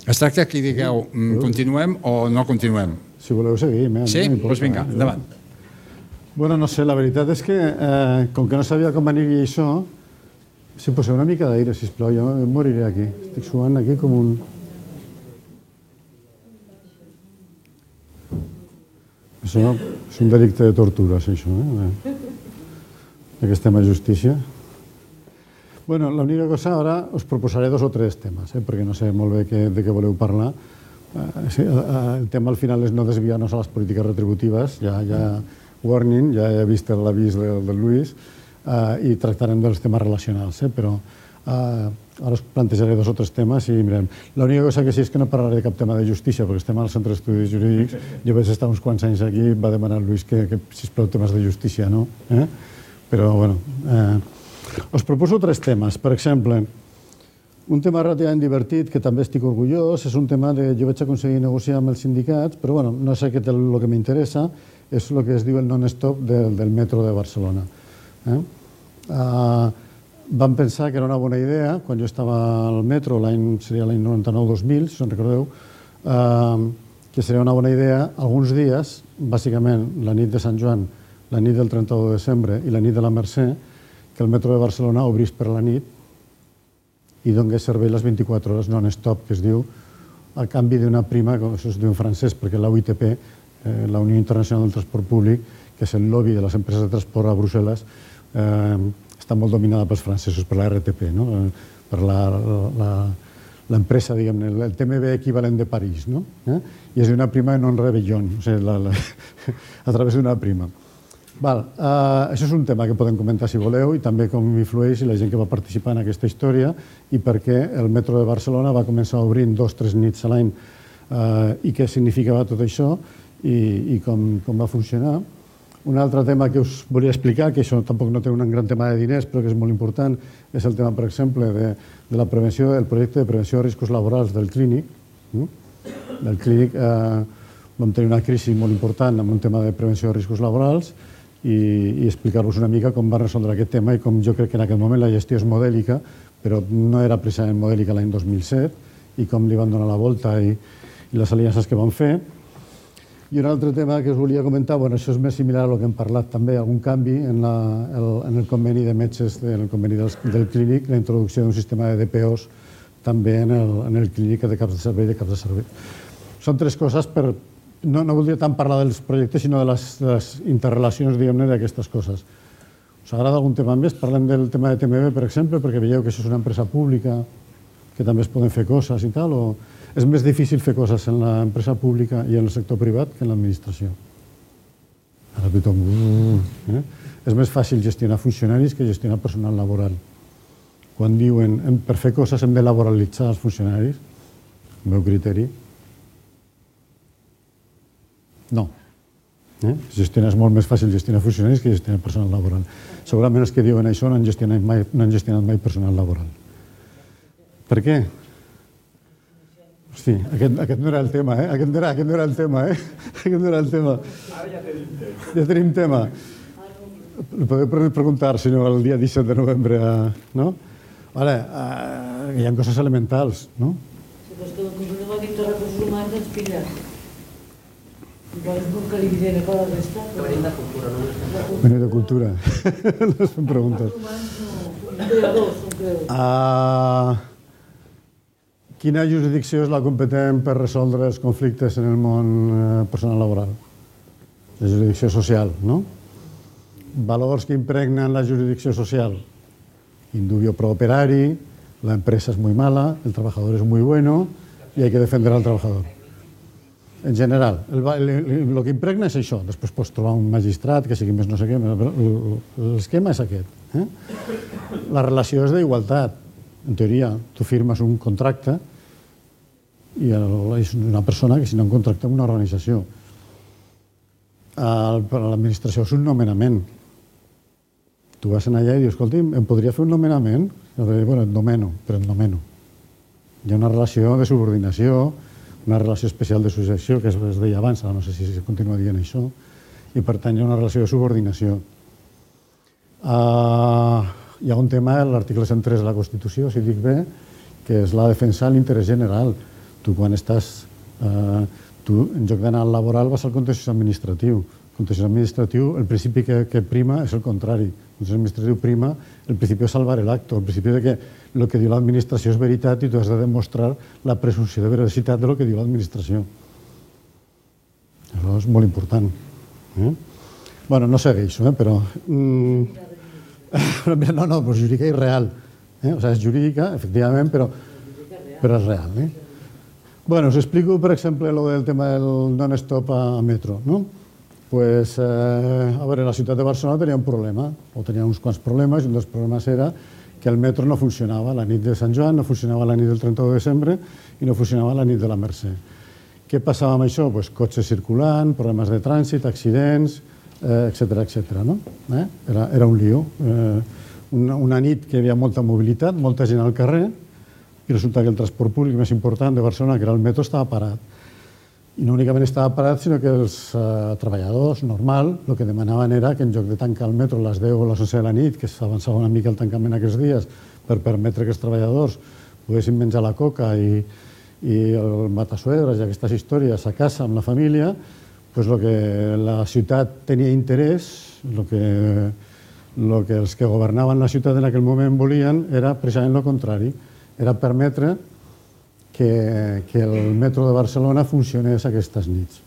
Es tracta que digueu, continuem o no continuem? Si voleu seguim, Sí? Doncs vinga, endavant. Bueno, no sé, la veritat és que com que no sabia com aniria això, si poseu una mica d'aire, sisplau, jo moriré aquí. Estic suant aquí com un... És un delicte de tortura, això, que estem a justícia. Bueno, l'única cosa, ara us proposaré 2 o 3 temes, perquè no sé molt bé de què voleu parlar. El tema al final és no desviar-nos a les polítiques retributives, ja warning, ja he vist l'avís del Lluís, i tractarem dels temes relacionals, però ara us plantejaré 2 o 3 temes i mirem. L'única cosa que sí és que no parlaré de cap tema de justícia, perquè estem al Centre d'Estudis Jurídics, jo vaig estar uns quants anys aquí i va demanar Lluís que sisplau, temes de justícia, no? Però, bueno... Us proposo 3 temes. Per exemple, Un tema relativament divertit, que també estic orgullós, és un tema que jo vaig aconseguir negociar amb els sindicats, però bueno, no és aquest el que m'interessa, és el que es diu el non-stop del metro de Barcelona. Vam pensar que era una bona idea, quan jo estava al metro, seria l'any 99-2000, si se'n recordeu, que seria una bona idea alguns dies, bàsicament la nit de Sant Joan, la nit del 31 de desembre i la nit de la Mercè, que el metro de Barcelona obrís per la nit i donés servei les 24 hores non-stop, que es diu, a canvi d'una prima, com això es diu en francès, perquè la UITP, la Unió Internacional del Transport Públic, que és el lobby de les empreses de transport a Brussel·les, està molt dominada pels francesos, per la RTP, per l'empresa, diguem-ne, el TMB equivalent de París, i és una prima non rebellón, o sigui, a través d'una prima. Això és un tema que podem comentar si voleu i també com influeix la gent que va participar en aquesta història i per què el metro de Barcelona va començar obrint 2 o 3 nits a l'any i què significava tot això i com va funcionar. Un altre tema que us volia explicar, que això tampoc no té un gran tema de diners però que és molt important, és el tema, per exemple, de la prevenció, del projecte de prevenció de riscos laborals del Clínic. Del Clínic vam tenir una crisi molt important amb un tema de prevenció de riscos laborals i explicar-vos una mica com va resoldre aquest tema i com jo crec que en aquell moment la gestió és modèlica, però no era precisament modèlica l'any 2007 i com li van donar la volta i les aliances que van fer. I un altre tema que us volia comentar, això és més similar a el que hem parlat també, algun canvi en el conveni de metges, en el conveni del Clínic, la introducció d'un sistema de DPOs també en el Clínic de caps de servei i de caps de servei. Són 3 coses per... No voldria tant parlar dels projectes, sinó de les interrelacions, diguem-ne, d'aquestes coses. Us agrada algun tema més? Parlem del tema de TMB, per exemple, perquè veieu que això és una empresa pública, que també es poden fer coses i tal, o és més difícil fer coses en l'empresa pública i en el sector privat que en l'administració? Ara tothom... És més fàcil gestionar funcionaris que gestionar personal laboral. Quan diuen per fer coses hem de laboralitzar els funcionaris, el meu criteri, no. És molt més fàcil gestionar funcionaris que gestionar personal laboral. Segurament els que diuen això no han gestionat mai personal laboral. Per què? Hosti, aquest no era el tema, Aquest no era el tema, Ja tenim tema. Lo podeu preguntar, si no, el dia 17 de novembre, no? Ara, hi ha coses elementals, no? Si és que el Consell de Recursos Humans ens pilla. Que li diré a la resta. Que venim de cultura, no? Venim de cultura. No es fan preguntes. Quina jurisdicció és la competent per resoldre els conflictes en el món personal laboral? La jurisdicció social, ¿no? Valors que impregnen la jurisdicció social. Indubio pro operari, la empresa es muy mala, el trabajador es muy bueno y hay que defender al trabajador. En general, el que impregna és això. Després pots trobar un magistrat que sigui més no sé què, però l'esquema és aquest. La relació és d'igualtat. En teoria, tu firmes un contracte i és una persona que signa un contracte amb una organització. Per a l'administració és un nomenament. Tu vas allà i dius, escolti'm, em podria fer un nomenament? Bueno, et nomeno, però et nomeno. Hi ha una relació de subordinació, una relació especial de successió, que es deia abans, no sé si es continua dient això, i per tant hi ha una relació de subordinació. Hi ha un tema, l'article 103 de la Constitució, si dic bé, que és la defensa de l'interès general. Tu, quan estàs... Tu, en lloc d'anar al laboral, vas al contenciós administratiu. El contenciós administratiu, el principi que prima és el contrari. El contenciós administratiu prima el principi de salvar el acto, el principi de que el que diu l'administració és veritat i tu has de demostrar la presumpció de veracitat del que diu l'administració. Això és molt important. Bueno, no segueixo, però... No, però jurídica i real. O sigui, és jurídica, efectivament, però és real. Bueno, us explico, per exemple, el tema del non-stop a metro, no? Pues, a veure, la ciutat de Barcelona tenia un problema, o tenia uns quants problemes, i un dels problemes era que el metro no funcionava la nit de Sant Joan, no funcionava la nit del 31 de desembre i no funcionava la nit de la Mercè. Què passava amb això? Pues cotxes circulant, problemes de trànsit, accidents, etc. Era un lío. Una nit que hi havia molta mobilitat, molta gent al carrer, i resulta que el transport públic més important de Barcelona, que era el metro, estava parat. I no únicament estava parat, sinó que els treballadors, normal, el que demanaven era que en lloc de tancar el metro a les 10 o a les 11 de la nit, que s'avançava una mica el tancament aquests dies, per permetre que els treballadors poguessin menjar la coca i el matasuegres i aquestes històries a casa amb la família, doncs el que la ciutat tenia interès, el que els que governaven la ciutat en aquell moment volien era precisament el contrari, era permetre que el metro de Barcelona funcionés aquestes nits.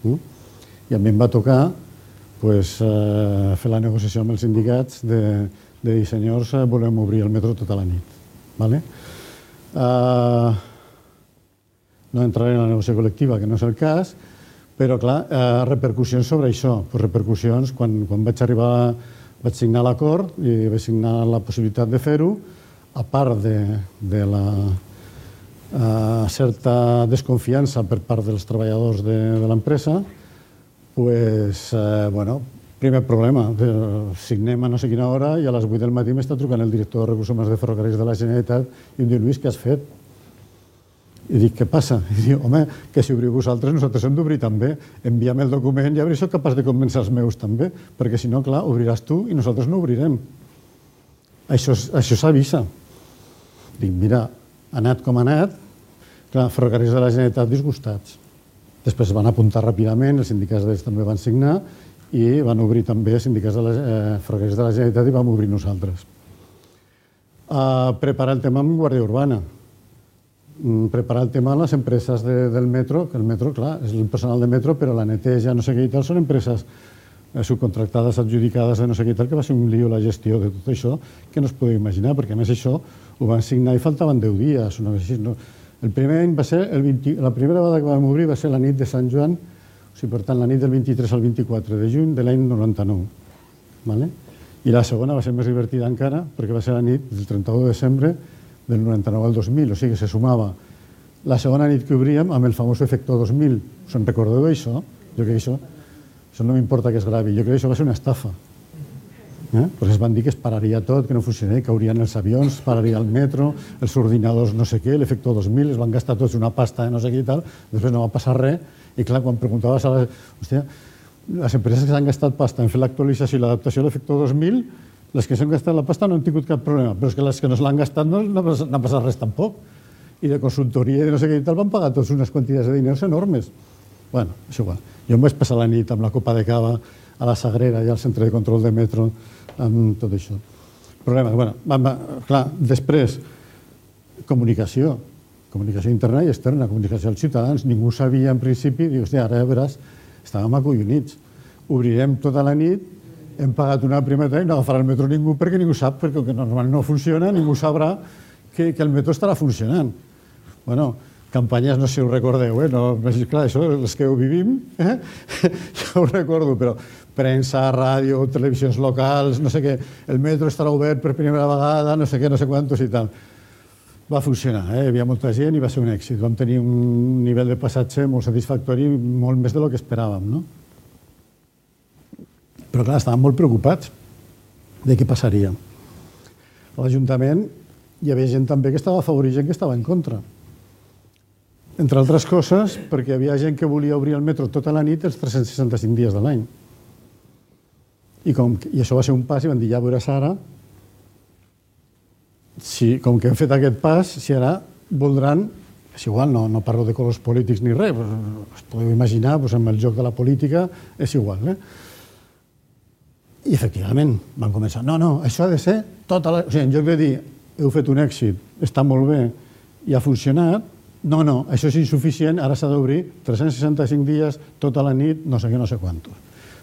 I a mi em va tocar fer la negociació amb els sindicats de dir, senyors, volem obrir el metro tota la nit. No entraré en la negociació col·lectiva, que no és el cas, però, clar, repercussions sobre això. Repercussions, quan vaig arribar, vaig signar l'acord i vaig signar la possibilitat de fer-ho, a part de la certa desconfiança per part dels treballadors de l'empresa, primer problema, signem a no sé quina hora i a les 8 del matí m'està trucant el director de Recursos Humans de Ferrocarrils de la Generalitat i em diu, Lluís, què has fet? I dic, què passa? I diu, home, que si obriu vosaltres, nosaltres hem d'obrir també. Envia'm el document i a veure si soc capaç de convèncer els meus també, perquè si no, clar, obriràs tu i nosaltres no obrirem. Això s'avisa. Dic, mira, ha anat com ha anat, clar, Ferrocarrils de la Generalitat disgustats. Després van apuntar ràpidament, els sindicats d'ells també van signar i van obrir també els sindicats de Ferrocarrils de la Generalitat i vam obrir nosaltres. Preparar el tema amb Guàrdia Urbana. Preparar el tema a les empreses del metro, que el metro, clar, és el personal de metro, però la neteja, no sé què i tal, són empreses subcontractades, adjudicades de no sé què i tal, que va ser un lío la gestió de tot això, que no es podeu imaginar, perquè a més això ho van signar i faltaven 10 dies, una cosa així. El primer any va ser, la primera vegada que vam obrir va ser la nit de Sant Joan, o sigui, per tant, la nit del 23 al 24 de juny de l'any 99. I la segona va ser més divertida encara, perquè va ser la nit del 31 de desembre del 99 al 2000, o sigui que se sumava la segona nit que obríem amb el famós efecte 2000. Us en recordeu d'això? Jo crec que això no m'importa que es gravi, jo crec que això va ser una estafa. Pues es van dir que es pararia tot, que no funcionaria, caurien els avions, pararia el metro, els ordinadors no sé què, l'efecte 2000, es van gastar tots una pasta de no sé què i tal, després no va passar res, i clar, quan preguntaves a les empreses que s'han gastat pasta en fer l'actualització i l'adaptació a l'efecte 2000, les que s'han gastat la pasta no han tingut cap problema, però és que les que no se l'han gastat no ha passat res tampoc. I de consultoria i de no sé què i tal van pagar tots unes quantitats de diners enormes. Bueno, és igual. Jo em vaig passar la nit amb la copa de cava a la Sagrera i al centre de control de metro amb tot això. Problema, clar, després, comunicació interna i externa, comunicació als ciutadans. Ningú sabia en principi, diu, hòstia, ara ja veràs, estàvem acollonits. Obrirem tota la nit, hem pagat una primera i no agafarà el metro ningú perquè ningú sap, perquè normalment no funciona, ningú sabrà que el metro estarà funcionant. Bueno, campanyes, no sé si ho recordeu, clar, això, els que ho vivim, jo ho recordo, però premsa, ràdio, televisions locals, no sé què, el metro estarà obert per primera vegada, no sé què, no sé quantos i tal. Va funcionar, hi havia molta gent i va ser un èxit. Vam tenir un nivell de passatge molt satisfactori, molt més del que esperàvem, no? Però clar, estàvem molt preocupats de què passaria. A l'Ajuntament hi havia gent també que estava a favor i gent que estava en contra. Entre altres coses, perquè hi havia gent que volia obrir el metro tota la nit els 365 dies de l'any. I això va ser un pas i van dir, ja veuràs ara, com que hem fet aquest pas, si ara voldran, és igual, no parlo de colors polítics ni res, us podeu imaginar, amb el joc de la política és igual, I efectivament van començar, no, això ha de ser tota la... O sigui, en lloc de dir, heu fet un èxit, està molt bé i ha funcionat, no, això és insuficient, ara s'ha d'obrir 365 dies, tota la nit, no sé què, no sé quantos.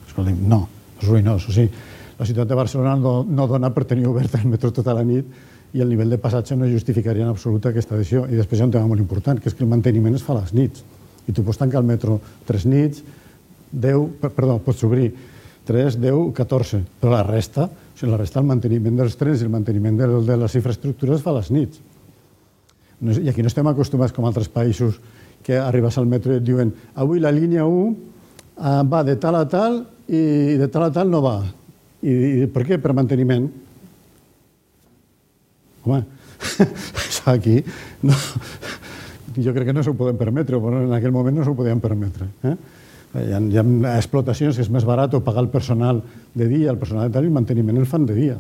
Escolta'm, no, és ruïnós. O sigui, la ciutat de Barcelona no dona per tenir obert el metro tota la nit i el nivell de passatge no justificaria en absolut aquesta decisió. I després hi ha un tema molt important, que és que el manteniment es fa a les nits. I tu pots tancar el metro 3 nits, pots obrir 3, 10, 14, però la resta, el manteniment dels trens i el manteniment de les infraestructures es fa a les nits. I aquí no estem acostumats com altres països que arribes al metro i et diuen avui la línia 1 va de tal a tal i de tal a tal no va. I per què? Per manteniment. Home, aquí, no, jo crec que no s'ho poden permetre, però en aquell moment no s'ho podien permetre. Hi ha explotacions que és més barat pagar el personal de dia, el personal de tal, i el manteniment el fan de dia.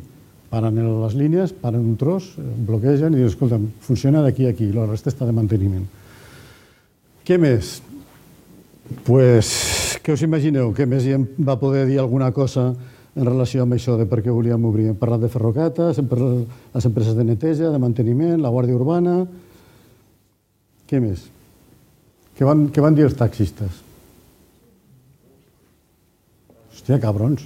Paren les línies, paren un tros, bloquegen i diuen, escolta, funciona d'aquí a aquí, la resta està de manteniment. Què més? Pues, què us imagineu? Què més va poder dir alguna cosa en relació amb això de per què volíem obrir? Hem parlat de ferrocates, hem parlat de les empreses de neteja, de manteniment, la Guàrdia Urbana... Què més? Què van dir els taxistes? Hòstia, cabrons.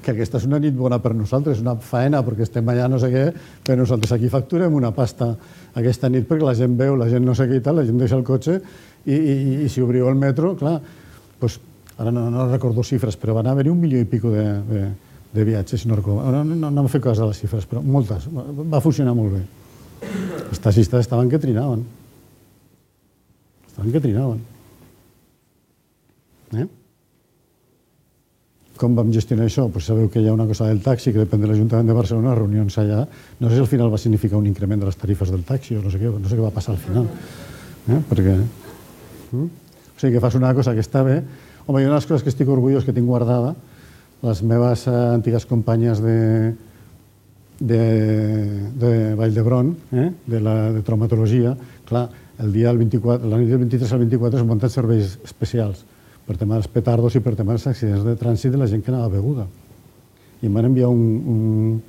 Que aquesta és una nit bona per nosaltres, una faena, perquè estem allà no sé què, però nosaltres aquí facturem una pasta aquesta nit perquè la gent veu, la gent no sé què i tal, la gent deixa el cotxe i si obriu el metro, clar, doncs, ara no recordo xifres, però van haver-hi 1 milió i pico de viatges, si no recordo. No em fa cas de les xifres, però moltes. Va funcionar molt bé. Els taxistes estaven que trinaven. Com vam gestionar això? Pues sabeu que hi ha una cosa del taxi que depèn de l'Ajuntament de Barcelona, reunions allà. No sé si al final va significar un increment de les tarifes del taxi o no sé què va passar al final. Perquè... O sigui, que fas una cosa que està bé. Home, hi ha unes coses que estic orgullós que tinc guardada. Les meves antigues companyes de Vall d'Hebron, de traumatologia, clar, la nit del 23 al 24 s'han muntat serveis especials per tema dels petardos i per tema dels accidents de trànsit de la gent que anava beguda. I em van enviar un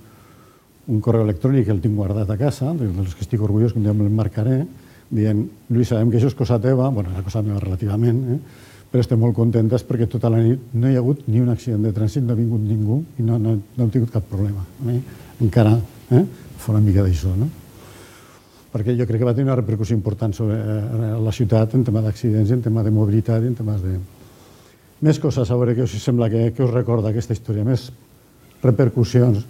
correu electrònic que el tinc guardat a casa, dels que estic orgullós, que un dia me'l marcaré, dient, Lluís, sabem que això és cosa teva, bueno, és cosa meva relativament, però estem molt contentes perquè tota la nit no hi ha hagut ni un accident de trànsit, no ha vingut ningú i no hem tingut cap problema. Encara fa una mica d'això, no? Perquè jo crec que va tenir una repercussió important sobre la ciutat en tema d'accidents, en tema de mobilitat i en temes de... Més coses, a veure què us sembla, que us recorda aquesta història, més repercussions.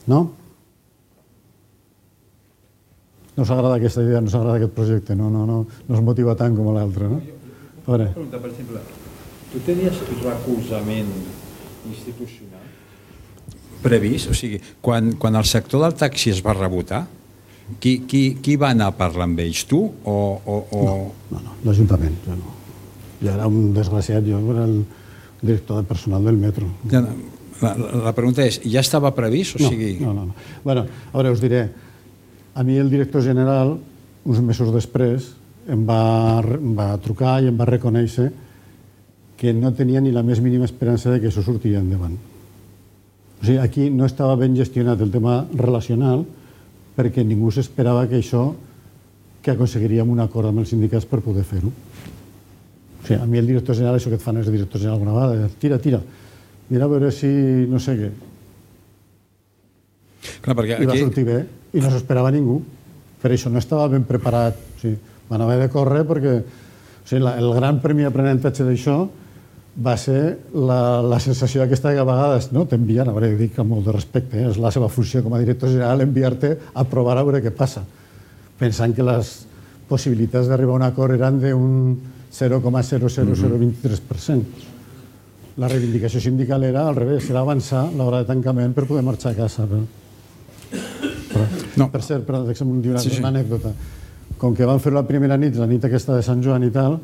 No? No us agrada aquesta idea, no us agrada aquest projecte, no us motiva tant com l'altre, no? A veure. Pregunta, per exemple, tu tenies recolzament institucional previst? O sigui, quan el sector del taxi es va rebotar, qui va anar a parlar amb ells? Tu o...? No, l'Ajuntament. Jo era un desgraciat, jo era el director de personal del metro. La pregunta és, ja estava previst? No. Bueno, a veure, us diré, a mi el director general, uns mesos després, em va trucar i em va reconèixer que no tenia ni la més mínima esperança que això sortiria endavant. O sigui, aquí no estava ben gestionat el tema relacional perquè ningú s'esperava que aconseguiríem un acord amb els sindicats per poder fer-ho. O sigui, a mi el director general, això que et fan els directors general alguna vegada, tira, mira a veure si no sé què. I va sortir bé, i no s'esperava ningú. Per això no estava ben preparat. Van haver de córrer perquè el gran premi d'aprenentatge d'això va ser la sensació aquesta que a vegades t'envien, a veure, dic amb molt de respecte, és la seva funció com a director general enviar-te a provar a veure què passa, pensant que les possibilitats d'arribar a un acord eren d'un 0,00023%. La reivindicació sindical era al revés, era avançar l'hora de tancament per poder marxar a casa. Per cert, deixa'm dir una anècdota. Com que van fer la primera nit, la nit aquesta de Sant Joan i tal,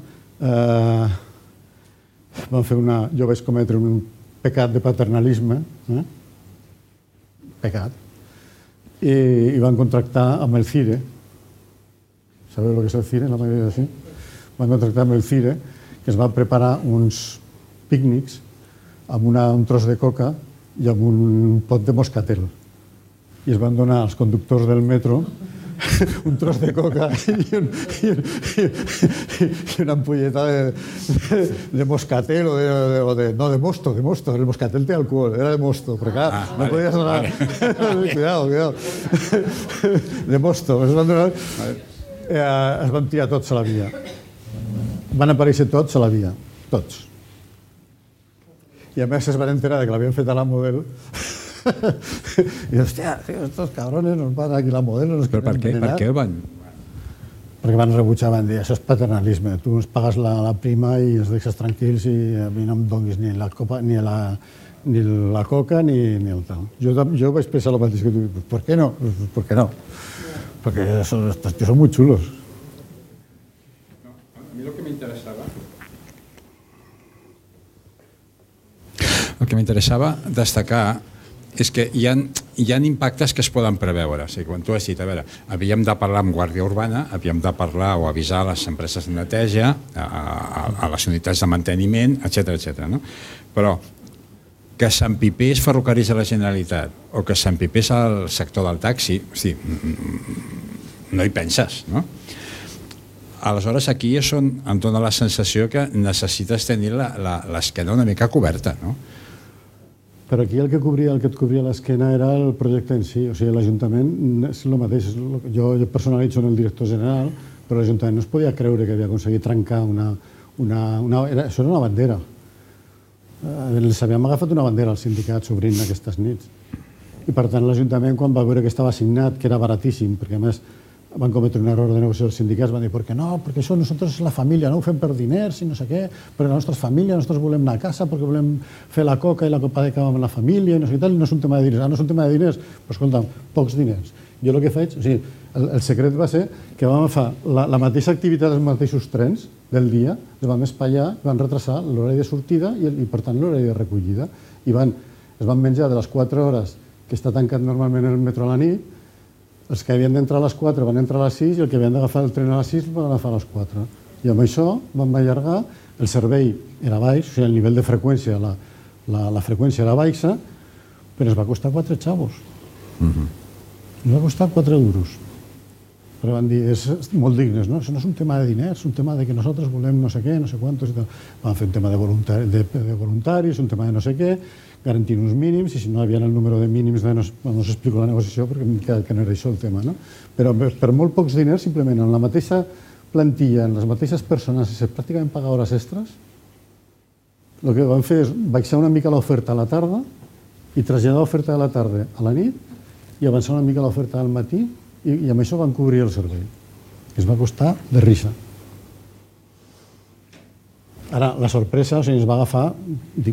jo vaig cometre un pecat de paternalisme, pecat, i van contractar amb el CIRE. Sabeu el que és el CIRE? La majoria sí. Van contractar amb el CIRE, que es van preparar uns pícnics amb un tros de coca i amb un pot de moscatel. I es van donar als conductors del metro un tros de coca i una ampolleta de moscatel no, de mosto, el moscatel té alcohol, era de mosto, però clar, no podies donar... Cuidado. De mosto. Es van tirar tots a la via. Van aparèixer tots a la via, tots. I a més es van enterar que l'havien fet a la Model. I hòstia, estos cabrones nos van aquí la Model. Però per què van? Perquè van rebutjar, van dir, això és paternalisme, tu ens pagues la prima i ens deixes tranquils i a mi no em donis ni la copa ni ni la coca ni el tal. Jo vaig pensar el mateix que tu, ¿por qué no? ¿Por qué no? Porque estos tíos son muy chulos. A mi lo que m'interessava destacar és que hi ha impactes que es poden preveure. O sigui, quan tu has dit, a veure, havíem de parlar amb Guàrdia Urbana, havíem de parlar o avisar a les empreses de neteja, a les unitats de manteniment, etc. No? Però que s'empipés Ferrocarrils de la Generalitat o que s'empipés el sector del taxi, hosti, no hi penses, no? Aleshores, aquí és on em dóna la sensació que necessites tenir l'esquena una mica coberta, no? Però aquí el que et cobria l'esquena era el projecte en si. O sigui, l'Ajuntament és el mateix. Jo personalitzo en el director general, però l'Ajuntament no es podia creure que havia aconseguit trencar això era una bandera. Els havíem agafat una bandera als sindicats obrint aquestes nits. I per tant l'Ajuntament, quan va veure que estava assignat, que era baratíssim, perquè a més van cometre un error de negociació els sindicats, van dir, ¿por qué no? Perquè això nosaltres és la família, no ho fem per diners i no sé què, perquè la nostra família, nosaltres volem anar a casa perquè volem fer la coca i la copa de cava amb la família i no sé què tal, i no és un tema de diners. No és un tema de diners, però escolta, pocs diners. Jo el que faig, o sigui, el secret va ser que vam agafar la mateixa activitat dels mateixos trens del dia, els vam espaiar, van retrasar l'horari de sortida i per tant l'horari de recollida. I es van menjar de les 4 hores que està tancat normalment el metro a la nit. Els que havien d'entrar a les 4 van entrar a les 6 i el que havien d'agafar el tren a les 6 van agafar a les 4. I amb això vam allargar, el servei era baix, o sigui, el nivell de freqüència, la freqüència era baixa, però ens va costar 4 xavos. Ens va costar 4 euros. Però van dir, és molt dignes, no? Això no és un tema de diners, és un tema de que nosaltres volem no sé què, no sé quantos i tal. Van fer un tema de voluntaris, un tema de no sé què, garantint uns mínims, i si no hi havia el número de mínims, no us explico la negociació perquè que no era això el tema, no? Però per molt pocs diners, simplement en la mateixa plantilla, en les mateixes persones, i pràcticament pagar hores extres, el que vam fer és baixar una mica l'oferta a la tarda i traslladar l'oferta de la tarda a la nit i avançar una mica l'oferta al matí i amb això van cobrir el servei. Es va costar de risa. Ara, la sorpresa, o sigui, ens va agafar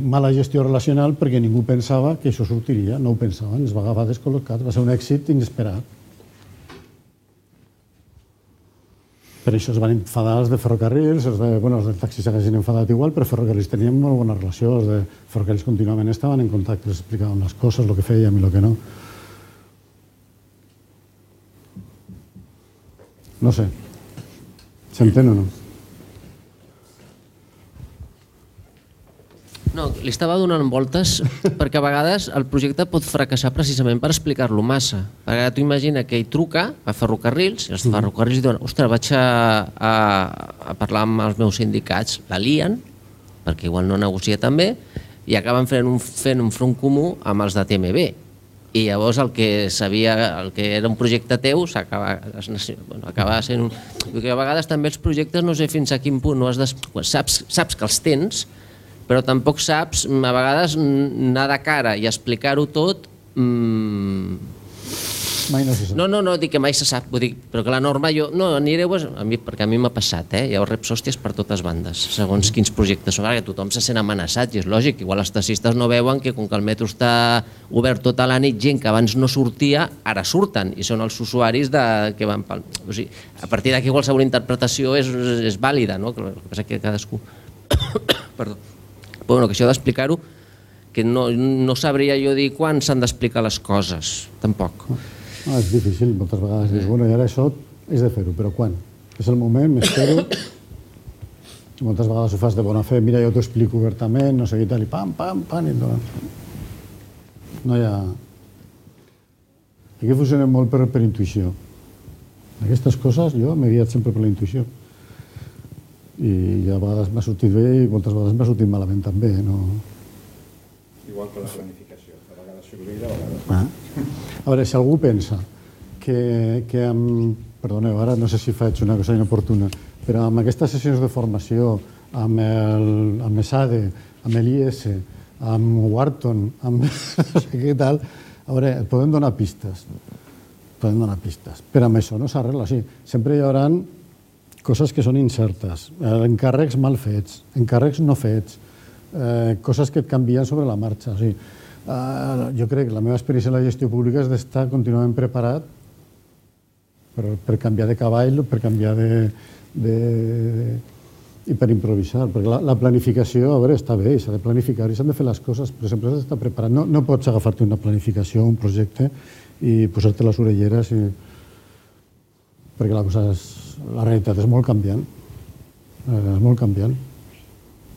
mala gestió relacional perquè ningú pensava que això sortiria, no ho pensaven, ens va agafar descol·locat, va ser un èxit inesperat. Per això es van enfadar els de Ferrocarrils, els del taxi s'haguessin enfadat igual, però Ferrocarrils tenien molt bona relació, els de Ferrocarrils contínuament estaven en contacte, els explicaven les coses, el que fèiem i el que no. No sé, s'entén o no? No, li estava donant voltes perquè a vegades el projecte pot fracassar precisament per explicar-lo massa. Perquè tu imagina que hi truca a Ferrocarrils i els Ferrocarrils diuen, ostres, vaig a parlar amb els meus sindicats, la lien, perquè igual no negocia tan bé, i acaben fent un front comú amb els de TMB. I llavors el que era un projecte teu acaba sent un... Perquè a vegades també els projectes no sé fins a quin punt saps que els tens, però tampoc saps a vegades anar de cara i explicar-ho tot. Mai no se sap. No, dic que mai se sap, però que la norma jo... No, anireu, perquè a mi m'ha passat, hi ha reps hòsties per totes bandes, segons quins projectes són, que tothom se sent amenaçat i és lògic, igual els taxistes no veuen que com que el metro està obert tota la nit, gent que abans no sortia, ara surten i són els usuaris que van pel... O sigui, a partir d'aquí qualsevol interpretació és vàlida, no? El que passa que cadascú... Perdó. Però bueno, que això d'explicar-ho, que no sabria jo dir quan s'han d'explicar les coses, tampoc. És difícil, moltes vegades dius, bueno, i ara això és de fer-ho, però quan? És el moment, m'espero. Moltes vegades ho fas de bona fe, mira, jo t'ho explico obertament, no sé què tal, i pam, i no hi ha... Aquí funcionem molt per intuïció. Aquestes coses jo m'he guiat sempre per la intuïció. I a vegades m'ha sortit bé i moltes vegades m'ha sortit malament també. Igual que la planificació, a vegades s'oblida, a vegades... A veure, si algú pensa que amb... Perdoneu, ara no sé si faig una cosa inoportuna, però amb aquestes sessions de formació, amb ESADE, amb l'IS, amb Wharton, amb no sé què tal, a veure, podem donar pistes. Però amb això no s'arregla. Sempre hi haurà coses que són incertes, encàrrecs mal fets, encàrrecs no fets, coses que et canvien sobre la marxa. O sigui, jo crec que la meva experiència en la gestió pública és d'estar contínuament preparat per canviar de cavall, per canviar i per improvisar. Perquè la planificació, a veure, està bé, s'ha de planificar i s'han de fer les coses, però sempre has d'estar preparat. No pots agafar-te una planificació, un projecte i posar-te les orelleres perquè la realitat és molt canviant. És molt canviant.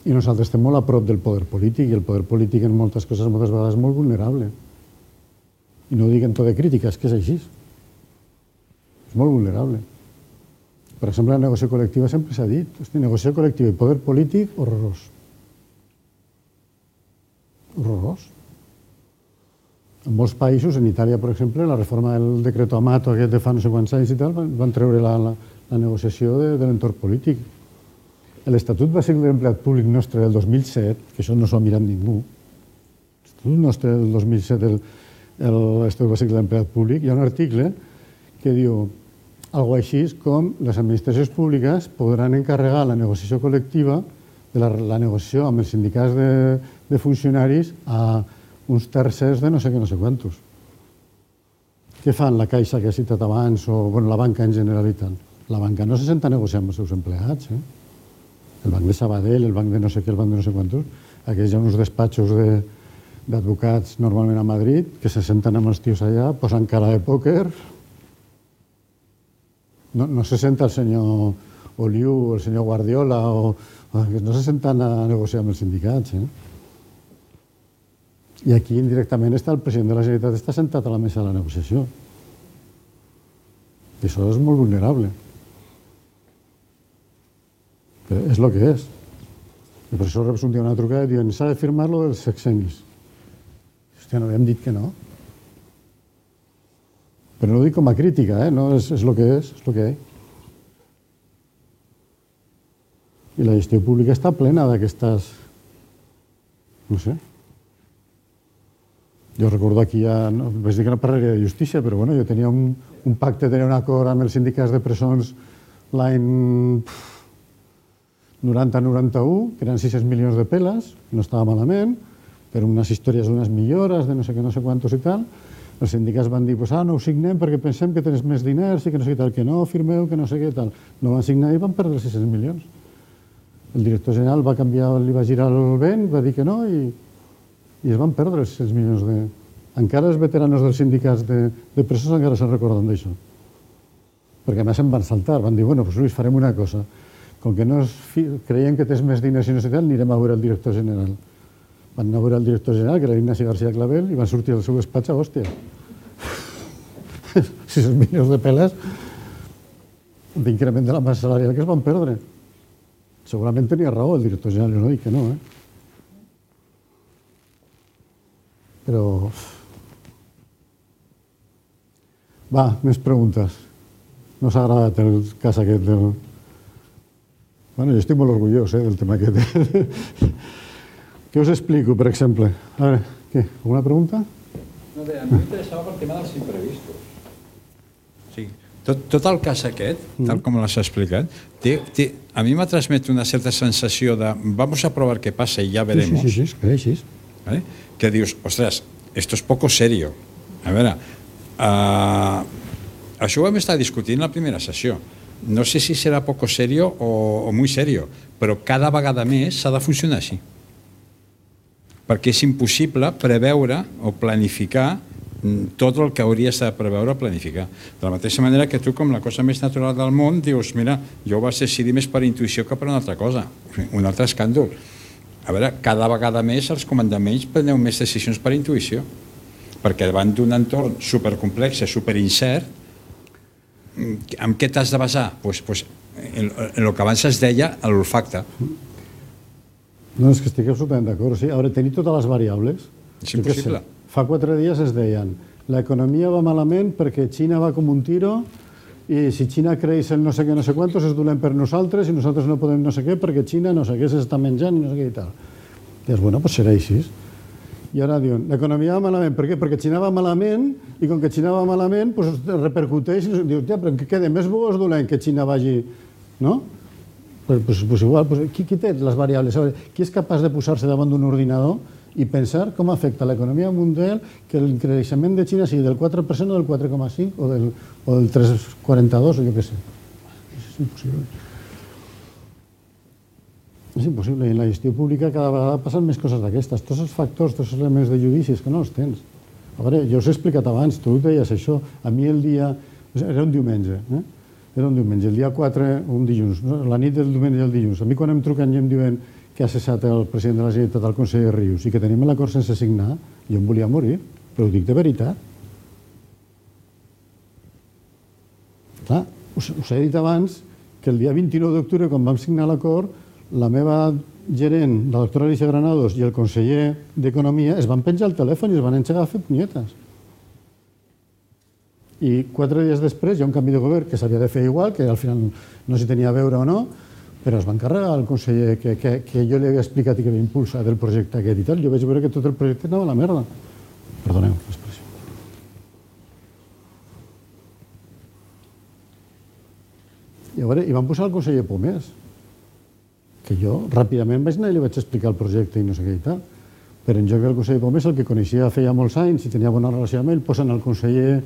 I nosaltres estem molt a prop del poder polític i el poder polític en moltes coses moltes vegades és molt vulnerable. I no ho dic en to de crítica, és que és així. És molt vulnerable. Per exemple, la negociació col·lectiva sempre s'ha dit. Negociació col·lectiva i poder polític, horrorós. Horrorós. En molts països, en Itàlia, per exemple, la reforma del decreto Amato, aquest de fa no sé quants anys i tal, van treure la negociació de l'entorn polític. L'Estatut Bàsic de l'Empleat Públic nostre del 2007, que això no s'ho ha mirat ningú, l'Estatut nostre del 2007, l'Estatut Bàsic de l'Empleat Públic, hi ha un article que diu alguna cosa així com les administracions públiques podran encarregar la negociació col·lectiva, la negociació amb els sindicats de funcionaris a uns tercers de no sé què, no sé quantos. Què fan la Caixa que he citat abans o la banca en general i tal? La banca no se senta a negociar amb els seus empleats, el banc de Sabadell, el banc de no sé què, el banc de no sé quantos, aquells hi ha uns despatxos d'advocats normalment a Madrid que se senten amb els tios allà, posen cara de pòquer. No se senta el senyor Oliu, el senyor Guardiola, no se senten a negociar amb els sindicats. I aquí indirectament està el president de la Generalitat, està sentat a la mesa de la negociació. I això és molt vulnerable. Però és el que és. I per això reps un dia una trucada i diuen s'ha de firmar lo dels sexennis. Hòstia, no havíem dit que no. Però no ho dic com a crítica, no, és el que és el que hi ha. I la gestió pública està plena d'aquestes... No sé. Jo recordo aquí ja... Vaig dir que no parlaria de justícia, però bueno, jo tenia un pacte, tenia un acord amb els sindicats de presons l'any 90-91, que eren 600 milions de peles, no estava malament, per unes històries d'unes millores, de no sé què, no sé quantos i tal. Els sindicats van dir, no ho signem perquè pensem que tens més diners i que no sé què tal, que no, firmeu, que no sé què tal. No van signar i van perdre 600 milions. El director general va canviar, li va girar el vent, va dir que no i es van perdre els 600 milions. Encara els veteranos dels sindicats de presons encara se'n recorden d'això. Perquè a més se'n van saltar, van dir, doncs Luis, farem una cosa. Com que no creien que tens més diners i no sé tal, anirem a veure el director general. Van anar a veure el director general, que era Ignasi García Clavel, i van sortir del seu despatx a hòstia. 600 milions de peles d'increment de la massa salarial que es van perdre. Segurament tenia raó el director general, jo no dic que no, Però... Va, més preguntes. No s'ha agradat el cas aquest del... Bueno, jo estic molt orgullós del tema aquest. Què us explico, per exemple? A veure, què? Alguna pregunta? No, a mi m'interessava pel tema dels imprevistos. Sí. Tot el cas aquest, tal com l'has explicat, a mi m'ha transmet una certa sensació de vamos a probar qué pasa y ya veremos. Sí, sí. ¿Vale? Que dius, ostras, esto es poco serio. A veure, això ho vam estar discutint en la primera sessió. No sé si serà poco serio o muy serio, però cada vegada més s'ha de funcionar així. Perquè és impossible preveure o planificar tot el que hauries de preveure o planificar. De la mateixa manera que tu, com la cosa més natural del món, dius, mira, jo ho vaig decidir més per intuïció que per una altra cosa, un altre escàndol. A veure, cada vegada més els comandaments preneu més decisions per intuïció, perquè davant d'un entorn supercomplex, superincert, en què t'has de basar? En el que abans es deia l'olfacte. No, és que estic absolutament d'acord. A veure, tenir totes les variables... És impossible. Fa 4 dies es deien l'economia va malament perquè Xina va com un tiro i si Xina creix el no sé què, no sé quantos és dolent per nosaltres i nosaltres no podem no sé què perquè Xina no sé què s'està menjant i no sé què i tal. I dius, bueno, doncs serà així. I ara diuen, l'economia va malament. Per què? Perquè Xina va malament i com que Xina va malament, doncs repercuteix i dius, ja, però què queda? Més bo és dolent que Xina vagi... No? Pues igual, qui té les variables? Qui és capaç de posar-se davant d'un ordinador i pensar com afecta l'economia mundial que el creixement de Xina sigui del 4% o del 4,5% o del 3,42% o jo què sé. És impossible. És impossible. I en la gestió pública cada vegada passen més coses d'aquestes. Tots els factors, tots els elements de judici, és que no els tens. A veure, jo us he explicat abans, tu deies això. A mi el dia... Era un diumenge, Era un diumenge. El dia 4, un dilluns. La nit del diumenge i el dilluns. A mi quan em truquen i em diuen que ha cessat el president de la Generalitat, el conseller Rius, i que tenim l'acord sense signar, jo em volia morir, però ho dic de veritat. Clar, us he dit abans que el dia 29 d'octubre, quan vam signar l'acord, la meva gerent, la doctora Alicia Granados, i el conseller d'Economia es van penjar el telèfon i es van engegar a fer punyetes. I 4 dies després hi ha un canvi de govern que s'havia de fer igual, que al final no s'hi tenia a veure o no, però es va encarregar el conseller que jo li havia explicat i que havia impulsat el projecte aquest i tal. Jo vaig veure que tot el projecte anava a la merda. Perdoneu l'expressió. I van posar el conseller Pomés, que jo ràpidament vaig anar i li vaig explicar el projecte i no sé què i tal. Però en lloc del conseller Pomés, el que coneixia feia molts anys i tenia bona relació amb ell, posen el conseller...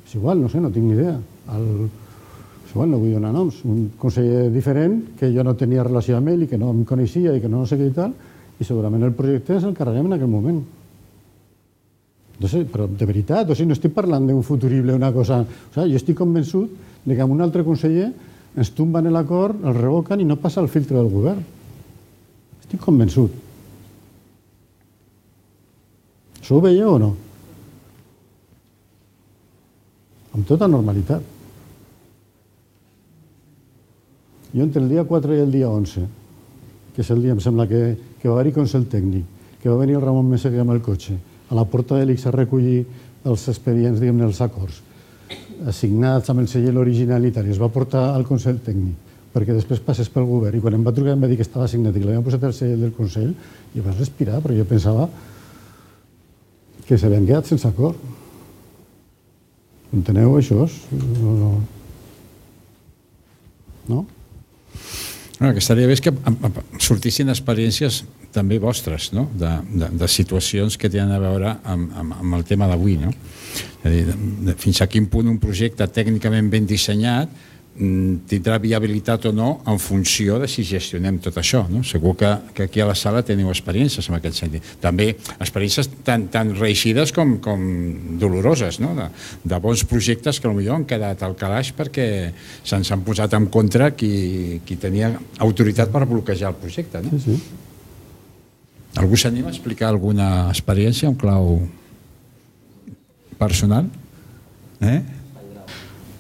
És igual, no sé, no tinc ni idea. És igual, no vull donar noms. Un conseller diferent, que jo no tenia relació amb ell i que no em coneixia i que no sé què i tal, i segurament el projecte se'l carreguem en aquell moment. No sé, però de veritat, o sigui, no estic parlant d'un futurible, una cosa... O sigui, jo estic convençut que amb un altre conseller ens tomben l'acord, el revoquen i no passa el filtre del govern. Estic convençut. Això ho veieu o no? Amb tota normalitat. Jo entre el dia 4 i el dia 11, que és el dia, em sembla, que va haver-hi consell tècnic, que va venir el Ramon Meseguer amb el cotxe, a la porta de l'ICS a recollir els expedients, diguem-ne, els acords, assignats amb el segell original i tal, i es va portar al consell tècnic, perquè després passés pel govern, i quan em va trucar em va dir que estava assignat i que l'havien posat al segell del consell, i vaig respirar, però jo pensava que s'havien quedat sense acord. Enteneu això? No? El que estaria bé és que sortissin experiències també vostres, no? De situacions que tenen a veure amb el tema d'avui. No? És a dir, fins a quin punt un projecte tècnicament ben dissenyat tindrà viabilitat o no en funció de si gestionem tot això. No? Segur que aquí a la sala teniu experiències en aquest sentit. També experiències tan reeixides com doloroses, no? De bons projectes que potser han quedat al calaix perquè se'ns han posat en contra qui tenia autoritat per bloquejar el projecte. No? Sí. Algú s'anima a explicar alguna experiència en clau personal?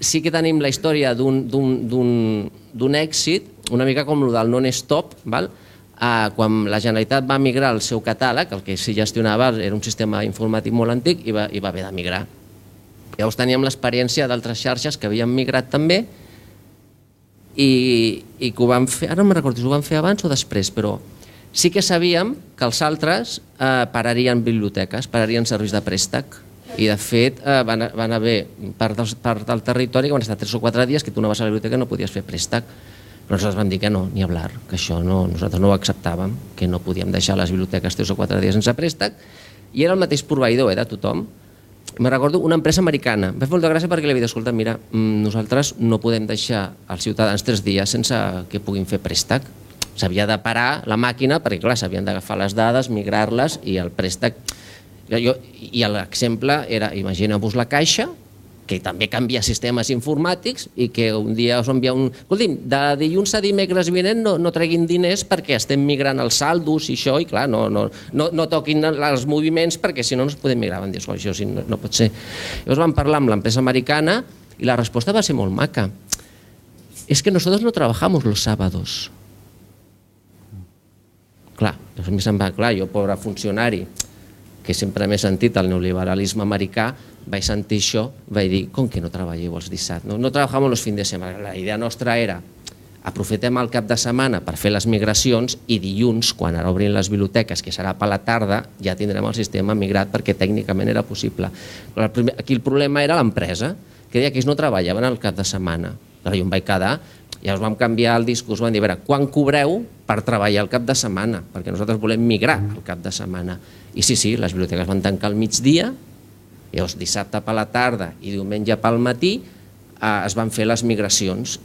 Sí que tenim la història d'un èxit, una mica com el del non-stop, quan la Generalitat va migrar el seu catàleg, el que s'hi gestionava era un sistema informàtic molt antic i va haver de migrar. Llavors teníem l'experiència d'altres xarxes que havien migrat també i que ho van fer, ara no me'n recordo si ho van fer abans o després, però sí que sabíem que els altres pararien biblioteques, pararien serveis de préstec. I de fet van haver part del territori que van estar 3 o 4 dies que tu anaves a la biblioteca i no podies fer préstec. Però nosaltres vam dir que no, ni hablar, que això nosaltres no ho acceptàvem, que no podíem deixar les biblioteques 3 o 4 dies sense préstec, i era el mateix proveïdor de tothom. Me recordo una empresa americana, em va fer molta gràcia perquè li havia dit, escolta, mira, nosaltres no podem deixar els ciutadans 3 dies sense que puguin fer préstec. S'havia de parar la màquina perquè, clar, s'havien d'agafar les dades, migrar-les i el préstec... I l'exemple era, imagineu-vos la Caixa, que també canvia sistemes informàtics i que un dia us envia un... Escolti'm, de dilluns a dimecres vinent no treguin diners perquè estem migrant els saldos i això, i clar, no toquin els moviments perquè si no es poden migrar. Van dir, això no pot ser. Llavors vam parlar amb l'empresa americana i la resposta va ser molt maca. És que nosotros no trabajamos los sábados. Clar, a mi se'm va, clar, jo, pobre funcionari, que sempre m'he sentit el neoliberalisme americà, vaig sentir això, vaig dir, com que no treballeu els dissabtes? No treballem els fins de setmana. La idea nostra era, aprofitem el cap de setmana per fer les migracions i dilluns, quan ara obrin les biblioteques, que serà per la tarda, ja tindrem el sistema migrat perquè tècnicament era possible. Aquí el problema era l'empresa, que deia que ells no treballaven el cap de setmana. Però jo em vaig quedar, Llavors vam canviar el discurs, vam dir, a veure, quan cobreu per treballar el cap de setmana? Perquè nosaltres volem migrar el cap de setmana. I sí, les biblioteques van tancar al migdia, llavors dissabte per la tarda i diumenge pel matí es van fer les migracions.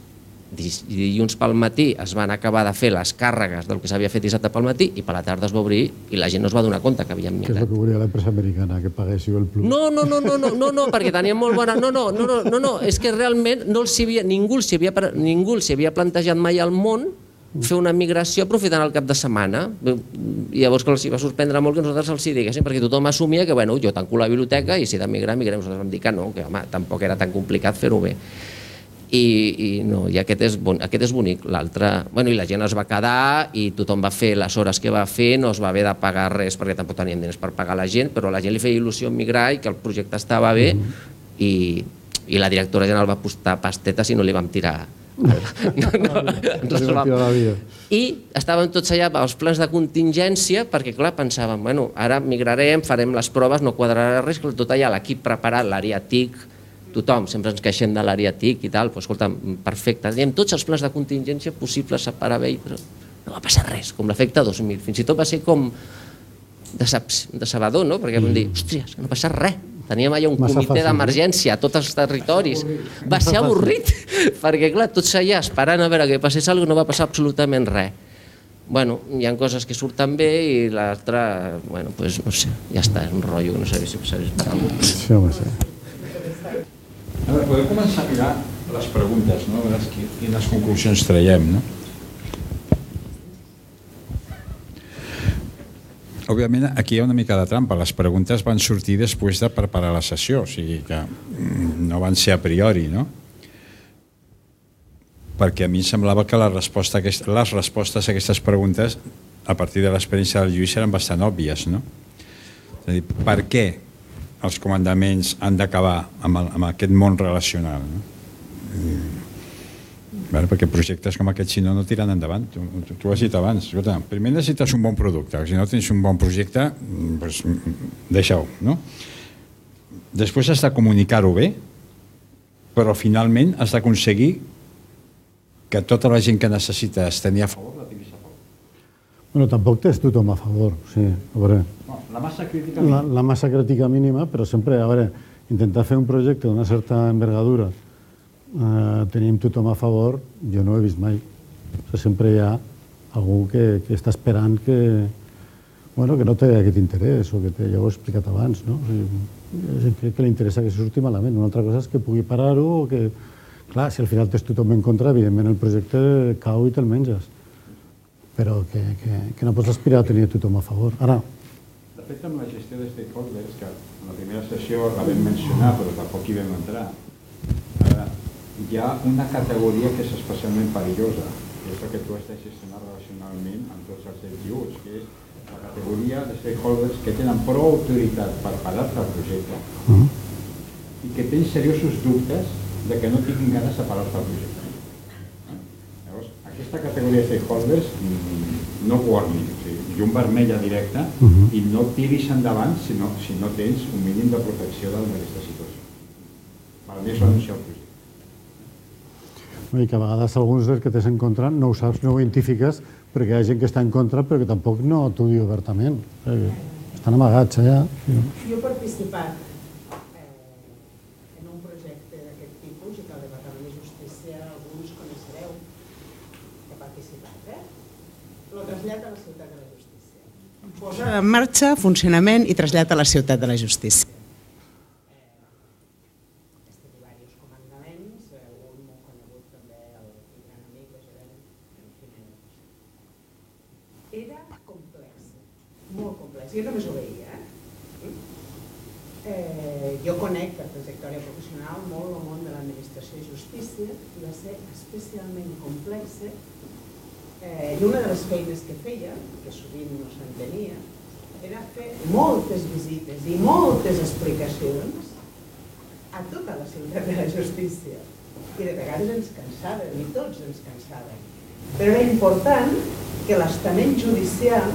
Dilluns pel matí es van acabar de fer les càrregues del que s'havia fet dissabte pel matí i per la tarda es va obrir i la gent no es va donar compte que havien migrat. Què és el que volia l'empresa americana, que paguéssiu el plus? No, perquè tenien molt bona... No, és que realment ningú s'hi havia plantejat mai al món fer una migració aprofitant el cap de setmana. I llavors que els va sorprendre molt que nosaltres els hi diguéssim, perquè tothom assumia que jo tanco la biblioteca i si he de migrar, migrem. Nosaltres vam dir que no, que home, tampoc era tan complicat fer-ho bé. I aquest és bonic. L'altre, i la gent es va quedar i tothom va fer les hores que va fer, no es va haver de pagar res perquè tampoc tenien diners per pagar la gent, però a la gent li feia il·lusió migrar i que el projecte estava bé i la directora general va postar pastetes i no li vam tirar. I estàvem tots allà als plans de contingència perquè clar, pensàvem, ara migrarem, farem les proves, no quadrarà res, tot allà l'equip preparat, l'àrea TIC, tothom, sempre ens queixem de l'àrea TIC i tal, però escolta, perfecte, teníem tots els plans de contingència possibles per haver, però no va passar res, com l'efecte 2000, fins i tot va ser com decebedor, no? Perquè vam dir, hòsties, no passa res, teníem allà un comitè d'emergència a tots els territoris, va ser avorrit, perquè clar, tots allà esperant a veure que passés alguna cosa, no va passar absolutament res. Hi ha coses que surten bé i l'altra, no sé, ja està, és un rotllo, no sé si ho sabés. Sí, home, sí. A veure, podem començar a mirar les preguntes, no? A veure quines conclusions traiem, no? Òbviament, aquí hi ha una mica de trampa. Les preguntes van sortir després de preparar la sessió, o sigui que no van ser a priori, no? Perquè a mi em semblava que les respostes a aquestes preguntes, a partir de l'experiència del Lluís, eren bastant òbvies, no? És a dir, per què els comandaments han d'acabar amb aquest món relacional, no? Perquè projectes com aquest, si no tiren endavant. Tu ho has dit abans. Primer necessites un bon producte. Si no tens un bon projecte, deixa-ho, no? Després has de comunicar-ho bé, però finalment has d'aconseguir que tota la gent que necessites tenir a favor la tinguis a favor. Tampoc tens tothom a favor, sí. A veure, la massa crítica mínima. La massa crítica mínima, però sempre, a veure, intentar fer un projecte d'una certa envergadura, tenim tothom a favor, jo no ho he vist mai. Sempre hi ha algú que està esperant que no té aquest interès, o que ja ho he explicat abans, no? Que li interessa que surti malament. Una altra cosa és que pugui parar-ho, o que, clar, si al final tens tothom en contra, evidentment el projecte cau i te'l menges. Però que no pots aspirar a tenir tothom a favor. Ara, de fet, amb la gestió de stakeholders, que en la primera sessió la vam mencionar, però tampoc hi vam entrar, hi ha una categoria que és especialment perillosa, que és la que tu has de gestionar relacionalment amb tots els DTUs, que és la categoria de stakeholders que tenen prou autoritat per parar-te el projecte i que tenen seriosos dubtes de que no tinguin ganes de parar-te el projecte. Llavors, aquesta categoria de stakeholders no guardi, llum vermella directa, i no tiris endavant si no tens un mínim de protecció d'aquesta situació. Per mi és renunciar al projecte. I que a vegades alguns dels que tens en contra no ho saps, no ho identifiques, perquè hi ha gent que està en contra però que tampoc no t'ho diu obertament. Estan amagats allà. Jo he participat en un projecte d'aquest tipus i que al Departament de Justícia alguns coneixereu. He participat, Lo trasllada a la Ciutat de la Justícia. Posa en marxa, funcionament i trasllat a la Ciutat de la Justícia. Jo només ho veia. Jo conec per trajectòria professional molt el món de l'administració i justícia i va ser especialment complex i una de les feines que feia, que sovint no s'entenia, era fer moltes visites i moltes explicacions a tota la Ciutat de la Justícia i de vegades ens cansaven i tots ens cansaven, però era important que l'estament judicial,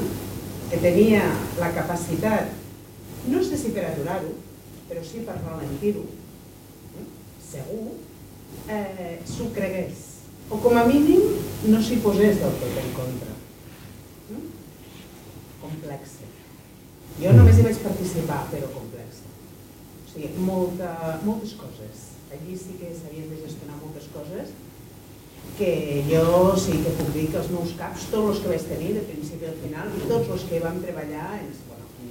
que tenia la capacitat, no sé si per aturar-ho, però sí per ralentir-ho, segur, s'ho cregués o com a mínim no s'hi posés del tot en contra. Complexe. Jo només hi vaig participar, però complexe. O sigui, moltes coses. Allí sí que s'havien de gestionar moltes coses que jo sí que puc dir que els meus caps, tots els que vaig tenir de principi al final, i tots els que vam treballar,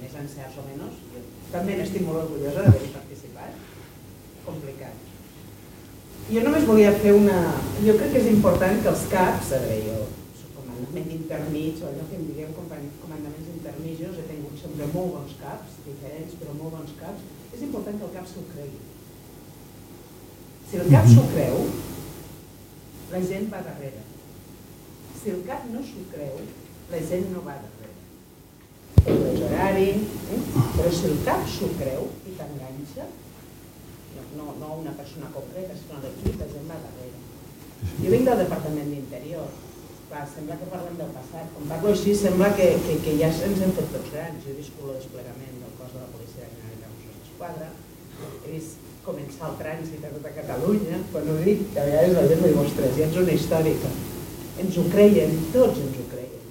més encerts o menys, jo també n'estic molt orgullosa d'haver-hi participat. Complicat. Jo només volia fer una... Jo crec que és important que els caps, a veure, jo soc comandament intermig, o allò que en diguem comandaments intermitjos, he tingut sempre molt bons caps, diferents, però molt bons caps. És important que el cap s'ho cregui. Si el cap s'ho creu, la gent va darrere. Si el cap no s'ho creu, la gent no va darrere. És horari, però si el cap s'ho creu i t'enganxa, no una persona concreta, sinó l'equip, la gent va darrere. Jo vinc del Departament d'Interior. Sembla que parlem del passat. Quan parlo així, sembla que ja ens hem fet tots grans. Jo he viscut el desplegament del cos de la Policia de la Generalitat de Mossos d'Esquadra, he vist començar el trànsit a tota Catalunya, quan ho dic, que a vegades la gent m'ho diu, ostres, ja ets una històrica. Ens ho creien, tots ens ho creien.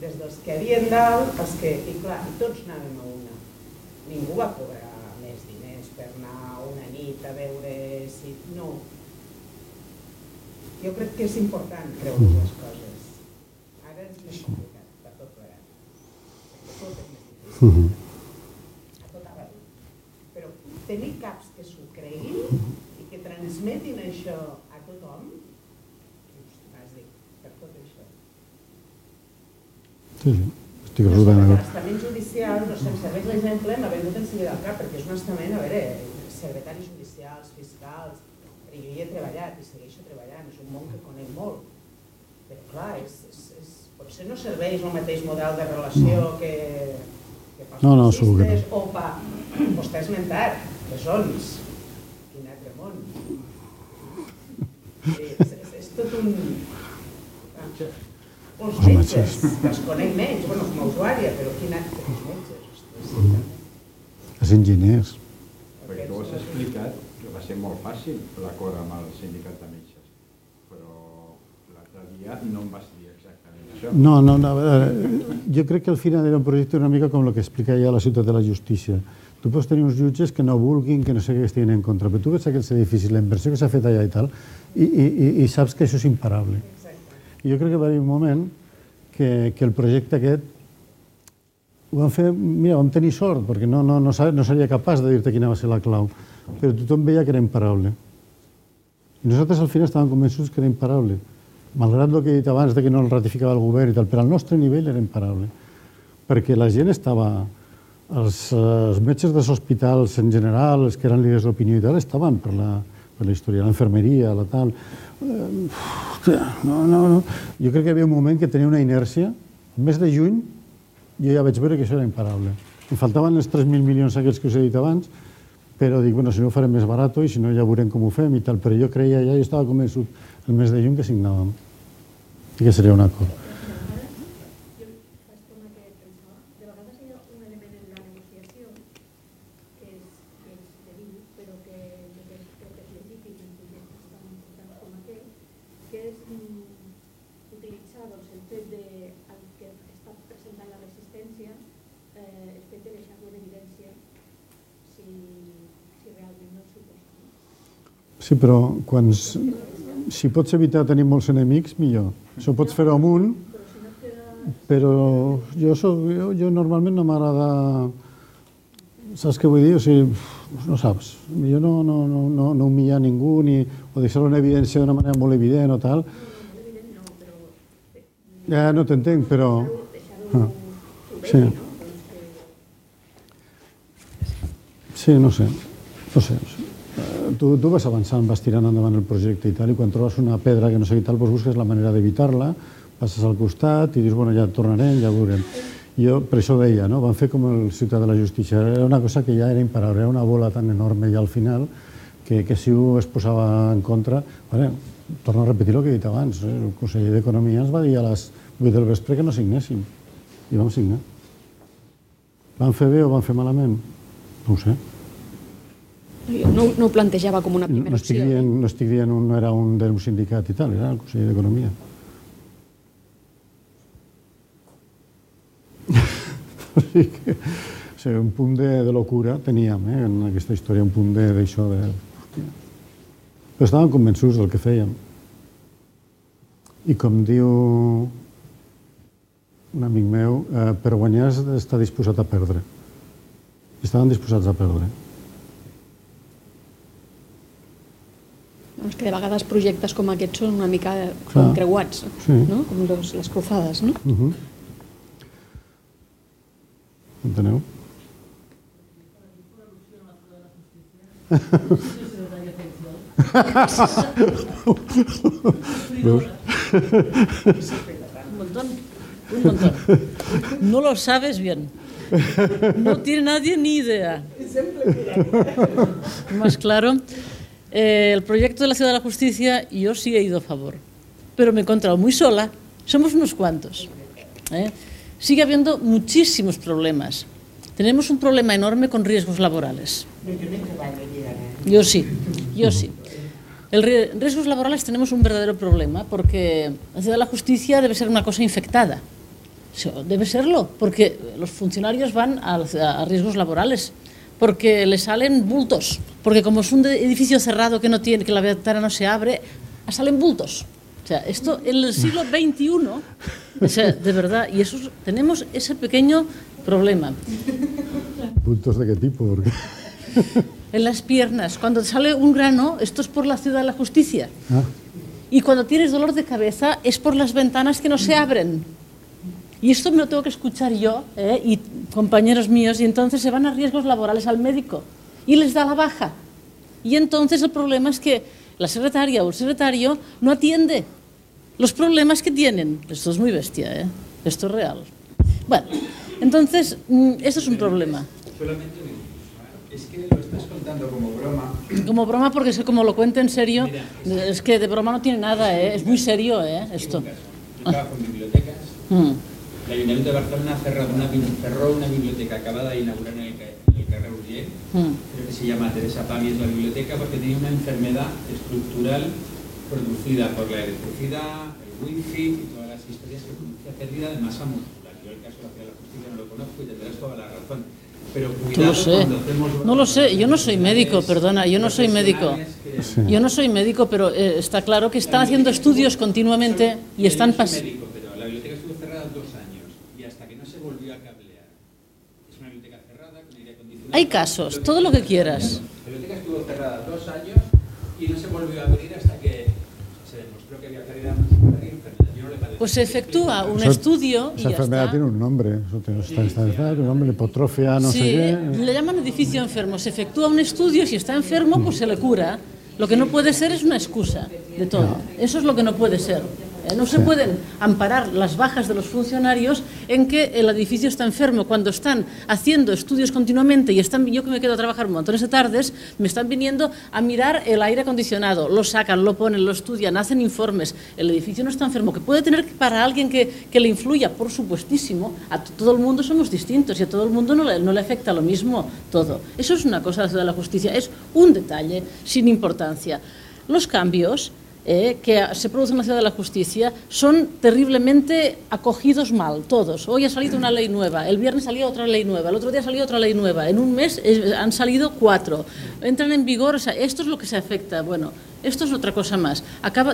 Des dels que havien dalt, els que... I clar, i tots anàvem a una. Ningú va cobrar més diners per anar una nit a veure si... No. Jo crec que és important creure les coses. Ara és més complicat, per tot plegat. Tot és més difícil. A tot arreu. Però tenir caps que s'ho creguin i que transmetin això a tothom, vas dir, per tot això. Sí, estic absolutament d'acord. L'estament judicial, no sé, em serveix l'exemple, m'ha venut enseguida al cap, perquè és un estament, a veure, secretaris judicials, fiscals, però jo hi he treballat i segueixo treballant, és un món que conec molt. Però clar, potser no serveix el mateix model de relació que pels policistes o vostè ha esmentat, presons. Quin altre món. És tot un... Els metges, els conec menys, com a usuària, però quin altre els metges. Els enginyers. Perquè tu ho has explicat, que va ser molt fàcil l'acord amb el sindicat de metges, però l'altre dia no em vas dir exactament això. No, jo crec que al final era un projecte una mica com el que explica ja la ciutat de la justícia. Tu pots tenir uns jutges que no vulguin, que no sé què estiguin en contra, però tu veus aquests edificis, la inversió que s'ha fet allà i tal, i saps que això és imparable. I jo crec que va haver un moment que el projecte aquest ho vam fer, mira, vam tenir sort, perquè no seria capaç de dir-te quina va ser la clau, però tothom veia que era imparable. I nosaltres al final estàvem convençuts que era imparable, malgrat el que he dit abans de que no el ratificava el govern i tal, però al nostre nivell era imparable, perquè la gent estava, els metges dels hospitals en general, els que eren líders d'opinió i tal, estaven per la història, l'infermeria, la tal... No. Jo crec que hi havia un moment que tenia una inèrcia, el mes de juny, jo ja vaig veure que això era imparable. Em faltaven els 3.000 milions aquells que us he dit abans, però dic, si no ho farem més barat i si no ja veurem com ho fem i tal, però jo creia ja, jo estava convençut el mes de juny que signàvem i que seria un acord. Jo faig com que pensava, de vegades hi ha un element en la negociació que és debil, però que crec que és legítim en projectes tan importants com aquest, que és utilitzar el fet de que està presentant la resistència, el fet de deixar-lo en evidència si realment no s'hi posa. Sí, però si pots evitar tenir molts enemics, millor. Això pots fer-ho amb un, però jo normalment no m'agrada... Saps què vull dir? O sigui, no saps. Jo no humillar ningú o deixar-ho en evidència d'una manera molt evident o tal. Ja no t'entenc, però... Sí, no sé. Tu vas avançant, vas tirant endavant el projecte i tal, i quan trobes una pedra que no sé què tal, busques la manera d'evitar-la, passes al costat i dius, ja tornarem, ja veurem. Jo, per això deia, vam fer com el Ciutat de la Justícia, era una cosa que ja era imparable, era una bola tan enorme ja al final que si ho es posava en contra... Torno a repetir el que he dit abans, el conseller d'Economia ens va dir a les 8 del vespre que no signéssim, i vam signar. Vam fer bé o vam fer malament? No ho sé. No ho plantejava com una primera opció. No estic dient no era un d'un sindicat i tal, era el Consell d'Economia. O sigui, un punt de locura teníem en aquesta història, un punt d'això de... Però estàvem convençuts del que fèiem. I com diu un amic meu, per guanyar has d'estar disposat a perdre. I estaven disposats a perdre. És que de vegades projectes com aquests són una mica creuats, com les cruzades, no? Enteneu? Un montón. No lo sabes bien. No tiene nadie ni idea. Más claro, el proyecto de la Ciudad de la Justicia yo sí he ido a favor, pero me he encontrado muy sola. Somos unos cuantos. Sigue habiendo muchísimos problemas. Tenemos un problema enorme con riesgos laborales. Yo sí. Riesgos laborales tenemos un verdadero problema porque la Ciudad de la Justicia debe ser una cosa infectada. Debe serlo, porque los funcionarios van a riesgos laborales, porque les salen bultos, porque como es un edificio cerrado que la ventana no se abre, salen bultos. O sea, esto en el siglo XXI, o sea, de verdad, y eso, tenemos ese pequeño problema. ¿Bultos de qué tipo? Porque... En las piernas, cuando te sale un grano, esto es por la Ciudad de la Justicia. Y cuando tienes dolor de cabeza, es por las ventanas que no se abren. Y esto me lo tengo que escuchar yo y compañeros míos, y entonces se van a riesgos laborales al médico y les da la baja. Y entonces el problema es que la secretaria o el secretario no atiende los problemas que tienen. Esto es muy bestia, esto es real. Bueno, entonces, esto es un problema. Solamente un inciso, es que lo estás contando como broma. Como broma porque es que como lo cuento en serio, es que de broma no tiene nada, es muy serio esto. Yo trabajo en bibliotecas. El Ayuntamiento de Barcelona cerró una biblioteca acabada de inaugurar en el carrer Urgell, creo que se llama Teresa Pami, es la biblioteca, porque tenía una enfermedad estructural producida por la electricidad, el wifi y todas las historias que producía pérdida de masa muscular. Yo el caso de la Ciudad de la Justicia no lo conozco y tendrás toda la razón. Pero cuidado cuando hacemos... No lo sé, yo no soy médico, perdona, yo no soy médico. Yo no soy médico, pero está claro que están haciendo estudios continuamente y están pasando... La biblioteca estuvo cerrada 2 años y hasta que no se volvió a cablear. Es una biblioteca cerrada con aire acondicionado. Hay casos, todo lo que quieras. La biblioteca estuvo cerrada 2 años y no se volvió a abrir hasta que se demostró que había pérdida muscular y enfermedad. Yo no le padezco. Pues se efectúa un estudio y esa enfermedad tiene un nombre, está un nombre, hipotrofia, no sé qué. Le llaman edificio enfermo. Se efectúa un estudio, si está enfermo, pues se le cura. Lo que no puede ser es una excusa de todo. Eso es lo que no puede ser. No se pueden amparar las bajas de los funcionarios en que el edificio está enfermo. Cuando están haciendo estudios continuamente y yo que me quedo a trabajar montones de tardes, me están viniendo a mirar el aire acondicionado, lo sacan, lo ponen, lo estudian, hacen informes. El edificio no está enfermo, que puede tener para alguien que le influya, por supuestísimo. A todo el mundo somos distintos y a todo el mundo no le afecta lo mismo todo. Eso es una cosa de la Ciudad de la Justicia, es un detalle sin importancia. Los cambios que se producen en la Ciudad de la Justicia son terriblemente acogidos mal, todos. Hoy ha salido una ley nueva, el viernes salía otra ley nueva, el otro día salió otra ley nueva, en un mes han salido 4, entran en vigor, o sea, esto es lo que se afecta. Bueno, esto es otra cosa más.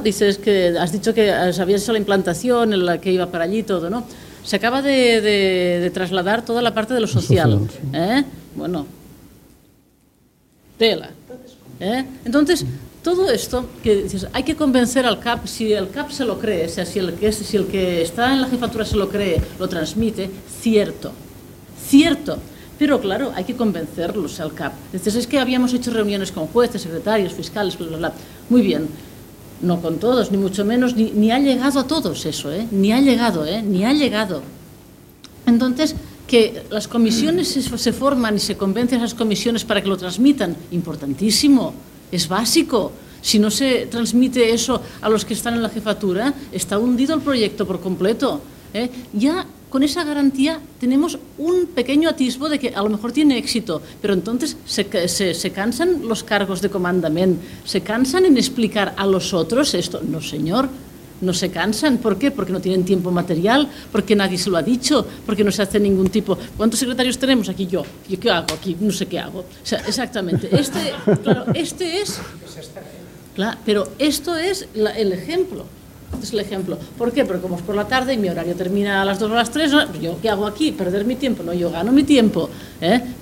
Dices que has dicho que habías hecho la implantación, en la que iba para allí todo, ¿no? Se acaba de trasladar toda la parte de lo social. Bueno, tela. Entonces, todo esto que dices, hay que convencer al CAP, si el CAP se lo cree, o sea, si el que está en la jefatura se lo cree, lo transmite, cierto, pero claro, hay que convencerlos al CAP. Dices, es que habíamos hecho reuniones con jueces, secretarios, fiscales, bla, bla, bla. Muy bien, no con todos, ni mucho menos, ni ha llegado a todos eso, ni ha llegado. Entonces, que las comisiones se forman y se convencen a esas comisiones para que lo transmitan, importantísimo. Es básico. Si no se transmite eso a los que están en la jefatura, está hundido el proyecto por completo. Ya con esa garantía tenemos un pequeño atisbo de que a lo mejor tiene éxito, pero entonces se cansan los cargos de comandamiento, se cansan en explicar a los otros esto. No, señor, no se cansan. ¿Por qué? Porque no tienen tiempo material, porque nadie se lo ha dicho, porque no se hace ningún tipo. ¿Cuántos secretarios tenemos aquí? Yo ¿qué hago aquí? No sé qué hago. O sea, exactamente. Claro, pero esto es el ejemplo. Este es el ejemplo. ¿Por qué? Porque como es por la tarde y mi horario termina a las 2 o a las 3, ¿yo qué hago aquí? ¿Perder mi tiempo? No, yo gano mi tiempo.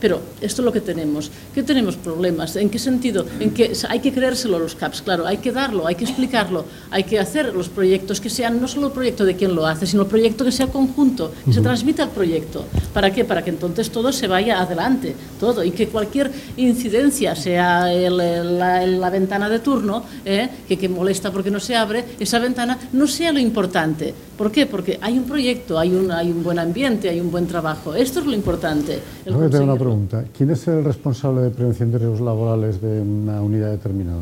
Pero esto es lo que tenemos. ¿Qué tenemos problemas? ¿En qué sentido? En que hay que creérselo a los CAPs, claro, hay que darlo, hay que explicarlo, hay que hacer los proyectos que sean no solo el proyecto de quien lo hace, sino el proyecto que sea conjunto, que se transmita el proyecto. ¿Para qué? Para que entonces todo se vaya adelante, todo, y que cualquier incidencia, sea la ventana de turno, que molesta porque no se abre, esa ventana no sea lo importante. ¿Por qué? Porque hay un proyecto, hay un buen ambiente, hay un buen trabajo. Esto es lo importante. Tengo una pregunta. ¿Quién es el responsable de prevención de riesgos laborales de una unidad determinada?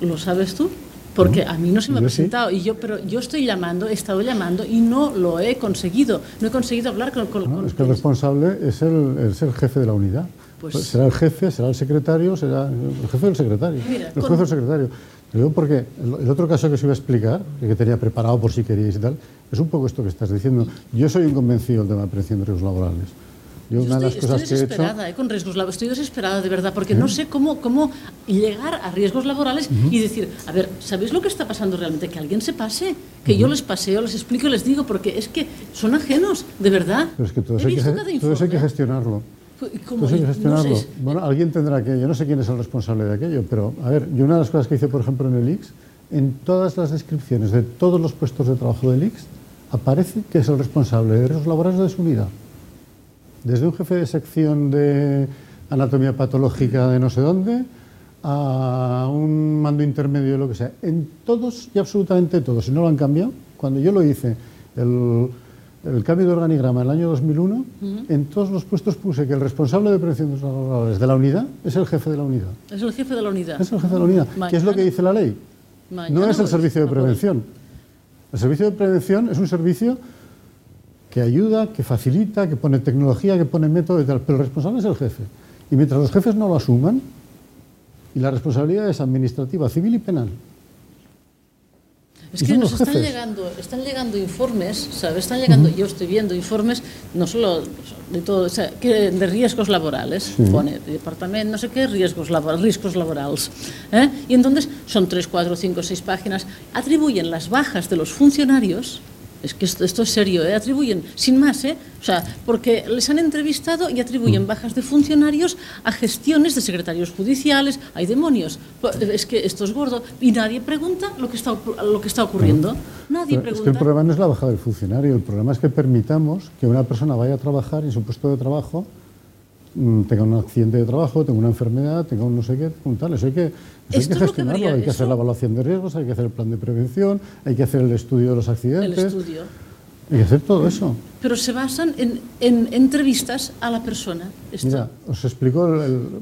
¿Lo sabes tú? Porque a mí no se me ha presentado, sí. Pero yo he estado llamando y no lo he conseguido. No he conseguido hablar con es que el responsable es el jefe de la unidad. Pues será el jefe, será el secretario, será el jefe del secretario. Mira, el juez del secretario. Lo digo porque el otro caso que os iba a explicar, que tenía preparado por si queríais y tal, es un poco esto que estás diciendo. Yo soy un convencido del tema de prevención de riesgos laborales. Estoy desesperada con riesgos laborales, estoy desesperada de verdad, porque no sé cómo llegar a riesgos laborales y decir, a ver, ¿sabéis lo que está pasando realmente? Que alguien se pase, que yo les paseo, les explico y les digo, porque es que son ajenos, de verdad. Pero es que todo eso hay que gestionarlo. Todo eso hay que gestionarlo. No sé, bueno, alguien tendrá que, yo no sé quién es el responsable de aquello, pero a ver, yo una de las cosas que hice, por ejemplo, en el ICS, en todas las descripciones de todos los puestos de trabajo del ICS, aparece que es el responsable de riesgos laborales de su unidad. Desde un jefe de sección de anatomía patológica de no sé dónde, a un mando intermedio de lo que sea. En todos y absolutamente todos, si no lo han cambiado, cuando yo lo hice, el cambio de organigrama en el año 2001, en todos los puestos puse que el responsable de prevención de riesgos laborales de la unidad es el jefe de la unidad. Es el jefe de la unidad. Es el jefe de la unidad. ¿Qué es lo que dice la ley? No es el servicio de prevención. El servicio de prevención es un servicio que ayuda, que facilita, que pone tecnología, que pone método y tal, pero el responsable es el jefe. Y mientras los jefes no lo asuman, y la responsabilidad es administrativa, civil y penal. Es que nos están llegando informes, ¿sabes? Están llegando, yo estoy viendo informes, no solo de todo, o sea, de riesgos laborales, pone departamento, no sé qué, riesgos laborales. Y entonces son 3, 4, 5, 6 páginas, atribuyen las bajas de los funcionarios. Es que esto es serio, atribuyen, sin más, o sea, porque les han entrevistado y atribuyen bajas de funcionarios a gestiones de secretarios judiciales. ¡Hay demonios! Es que esto es gordo y nadie pregunta lo que está ocurriendo. Nadie pregunta. Es que el problema no es la baja del funcionario, el problema es que permitamos que una persona vaya a trabajar y en su puesto de trabajo tenga un accidente de trabajo, tenga una enfermedad, tenga un no sé qué, un tal. Eso hay que gestionarlo, hay que hacer la evaluación de riesgos, hay que hacer el plan de prevención, hay que hacer el estudio de los accidentes. El estudio. Hay que hacer todo eso. Pero se basan en entrevistas a la persona. Mira, os explico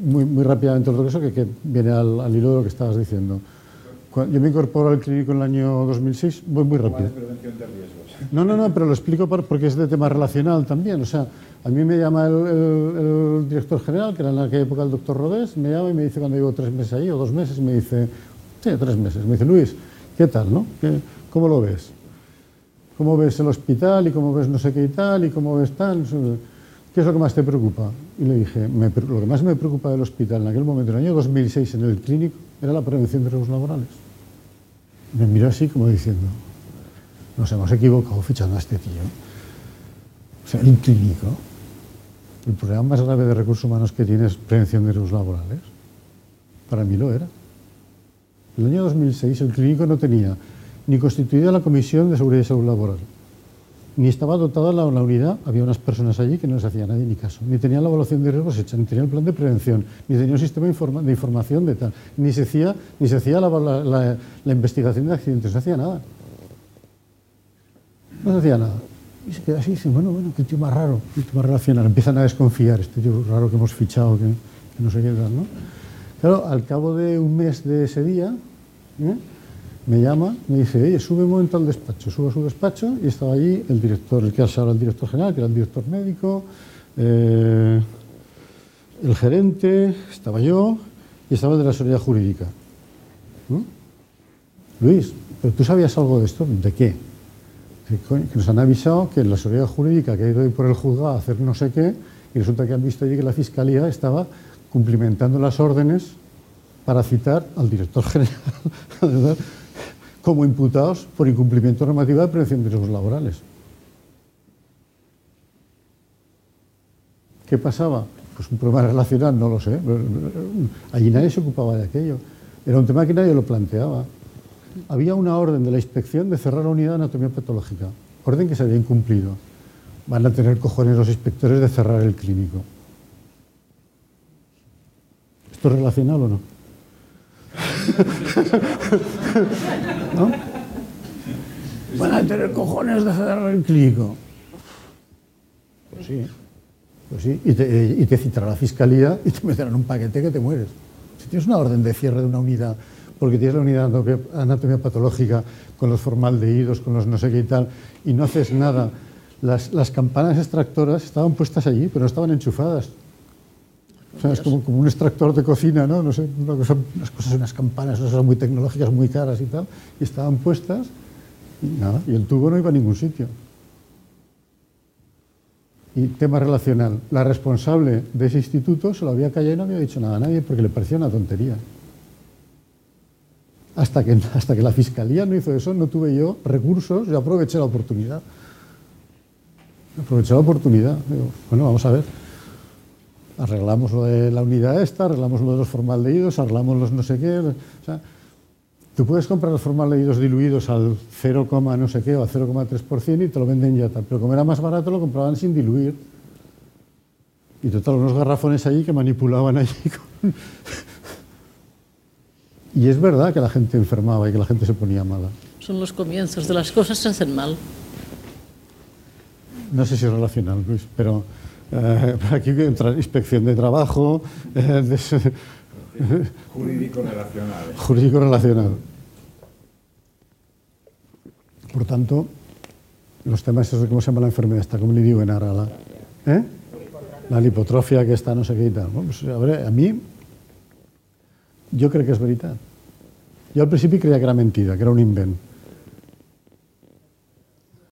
muy rápidamente otro caso que viene al hilo de lo que estabas diciendo. Yo me incorporo al clínico en el año 2006, voy muy rápido. Prevención de riesgos. No, pero lo explico porque es de tema relacional también. O sea, a mí me llama el director general, que era en aquella época el doctor Rodés, me llama y me dice, cuando llevo 3 meses ahí, o 2 meses, me dice, sí, 3 meses, me dice, Luis, ¿qué tal, no? ¿Cómo lo ves? ¿Cómo ves el hospital y cómo ves no sé qué y tal y cómo ves tal? ¿Qué es lo que más te preocupa? Y le dije, lo que más me preocupa del hospital en aquel momento, en el año 2006, en el clínico, era la prevención de riesgos laborales. Me miró así como diciendo, nos hemos equivocado fichando a este tío. O sea, el clínico, el problema más grave de recursos humanos que tiene es prevención de riesgos laborales. Para mí lo era. En el año 2006 el clínico no tenía ni constituida la Comisión de Seguridad y Salud Laboral, ni estaba dotada la unidad, había unas personas allí que no les hacía nadie ni caso, ni tenía la evaluación de riesgos hecha, ni tenía el plan de prevención, ni tenía un sistema de información de tal, ni se hacía la investigación de accidentes, no se hacía nada. No se hacía nada. Y se queda así, y dice, bueno, qué tío más raro, qué tío más relacionado. Empiezan a desconfiar, este tío raro que hemos fichado, que no sé qué tal, ¿no? Claro, al cabo de un mes de ese día, me llama, me dice, oye, sube un momento al despacho. Subo a su despacho y estaba allí el director, el que ahora el director general, que era el director médico, el gerente, estaba yo y estaba el de la seguridad jurídica. ¿No? Luis, ¿pero tú sabías algo de esto? ¿De qué? Que nos han avisado que la seguridad jurídica que ha ido ahí por el juzgado a hacer no sé qué, y resulta que han visto allí que la Fiscalía estaba cumplimentando las órdenes para citar al director general como imputados por incumplimiento normativa de prevención de riesgos laborales. ¿Qué pasaba? Pues un problema relacional, no lo sé. Allí nadie se ocupaba de aquello. Era un tema que nadie lo planteaba. Había una orden de la inspección de cerrar la unidad de anatomía patológica. Orden que se había incumplido. Van a tener cojones los inspectores de cerrar el clínico. ¿Esto es relacional o no? ¿No? Van a tener cojones de cerrar el clínico. Pues sí. Pues sí. Y te citará la Fiscalía y te meterán un paquete que te mueres. Si tienes una orden de cierre de una unidad, porque tienes la unidad de anatomía patológica con los formaldehídos, con los no sé qué y tal, y no haces nada, las campanas extractoras estaban puestas allí, pero no estaban enchufadas. O sea, es como un extractor de cocina, ¿no? No sé, unas campanas, unas cosas muy tecnológicas, muy caras y tal, y estaban puestas, y nada, y el tubo no iba a ningún sitio. Y tema relacional, la responsable de ese instituto se lo había callado y no había dicho nada a nadie porque le parecía una tontería. Hasta que la Fiscalía no hizo eso, no tuve yo recursos, yo aproveché la oportunidad. Digo, bueno, vamos a ver. Arreglamos lo de la unidad esta, arreglamos lo de los formaldehídos, arreglamos los no sé qué. O sea, tú puedes comprar los formaldehídos diluidos al 0, no sé qué o al 0,3% y te lo venden ya tal. Pero como era más barato lo compraban sin diluir. Y total, unos garrafones allí que manipulaban allí con... Y es verdad que la gente enfermaba y que la gente se ponía mala. Son los comienzos de las cosas, se hacen mal. No sé si es relacional, Luis, pero aquí entra inspección de trabajo, Jurídico relacional. Jurídico relacional. Por tanto, los temas esos de cómo se llama la enfermedad esta, ¿cómo le digo en ara? La lipotrofia que está no sé qué y tal. Bueno, pues, a mí, yo crec que és veritat. Jo al principi creia que era mentida, que era un invent.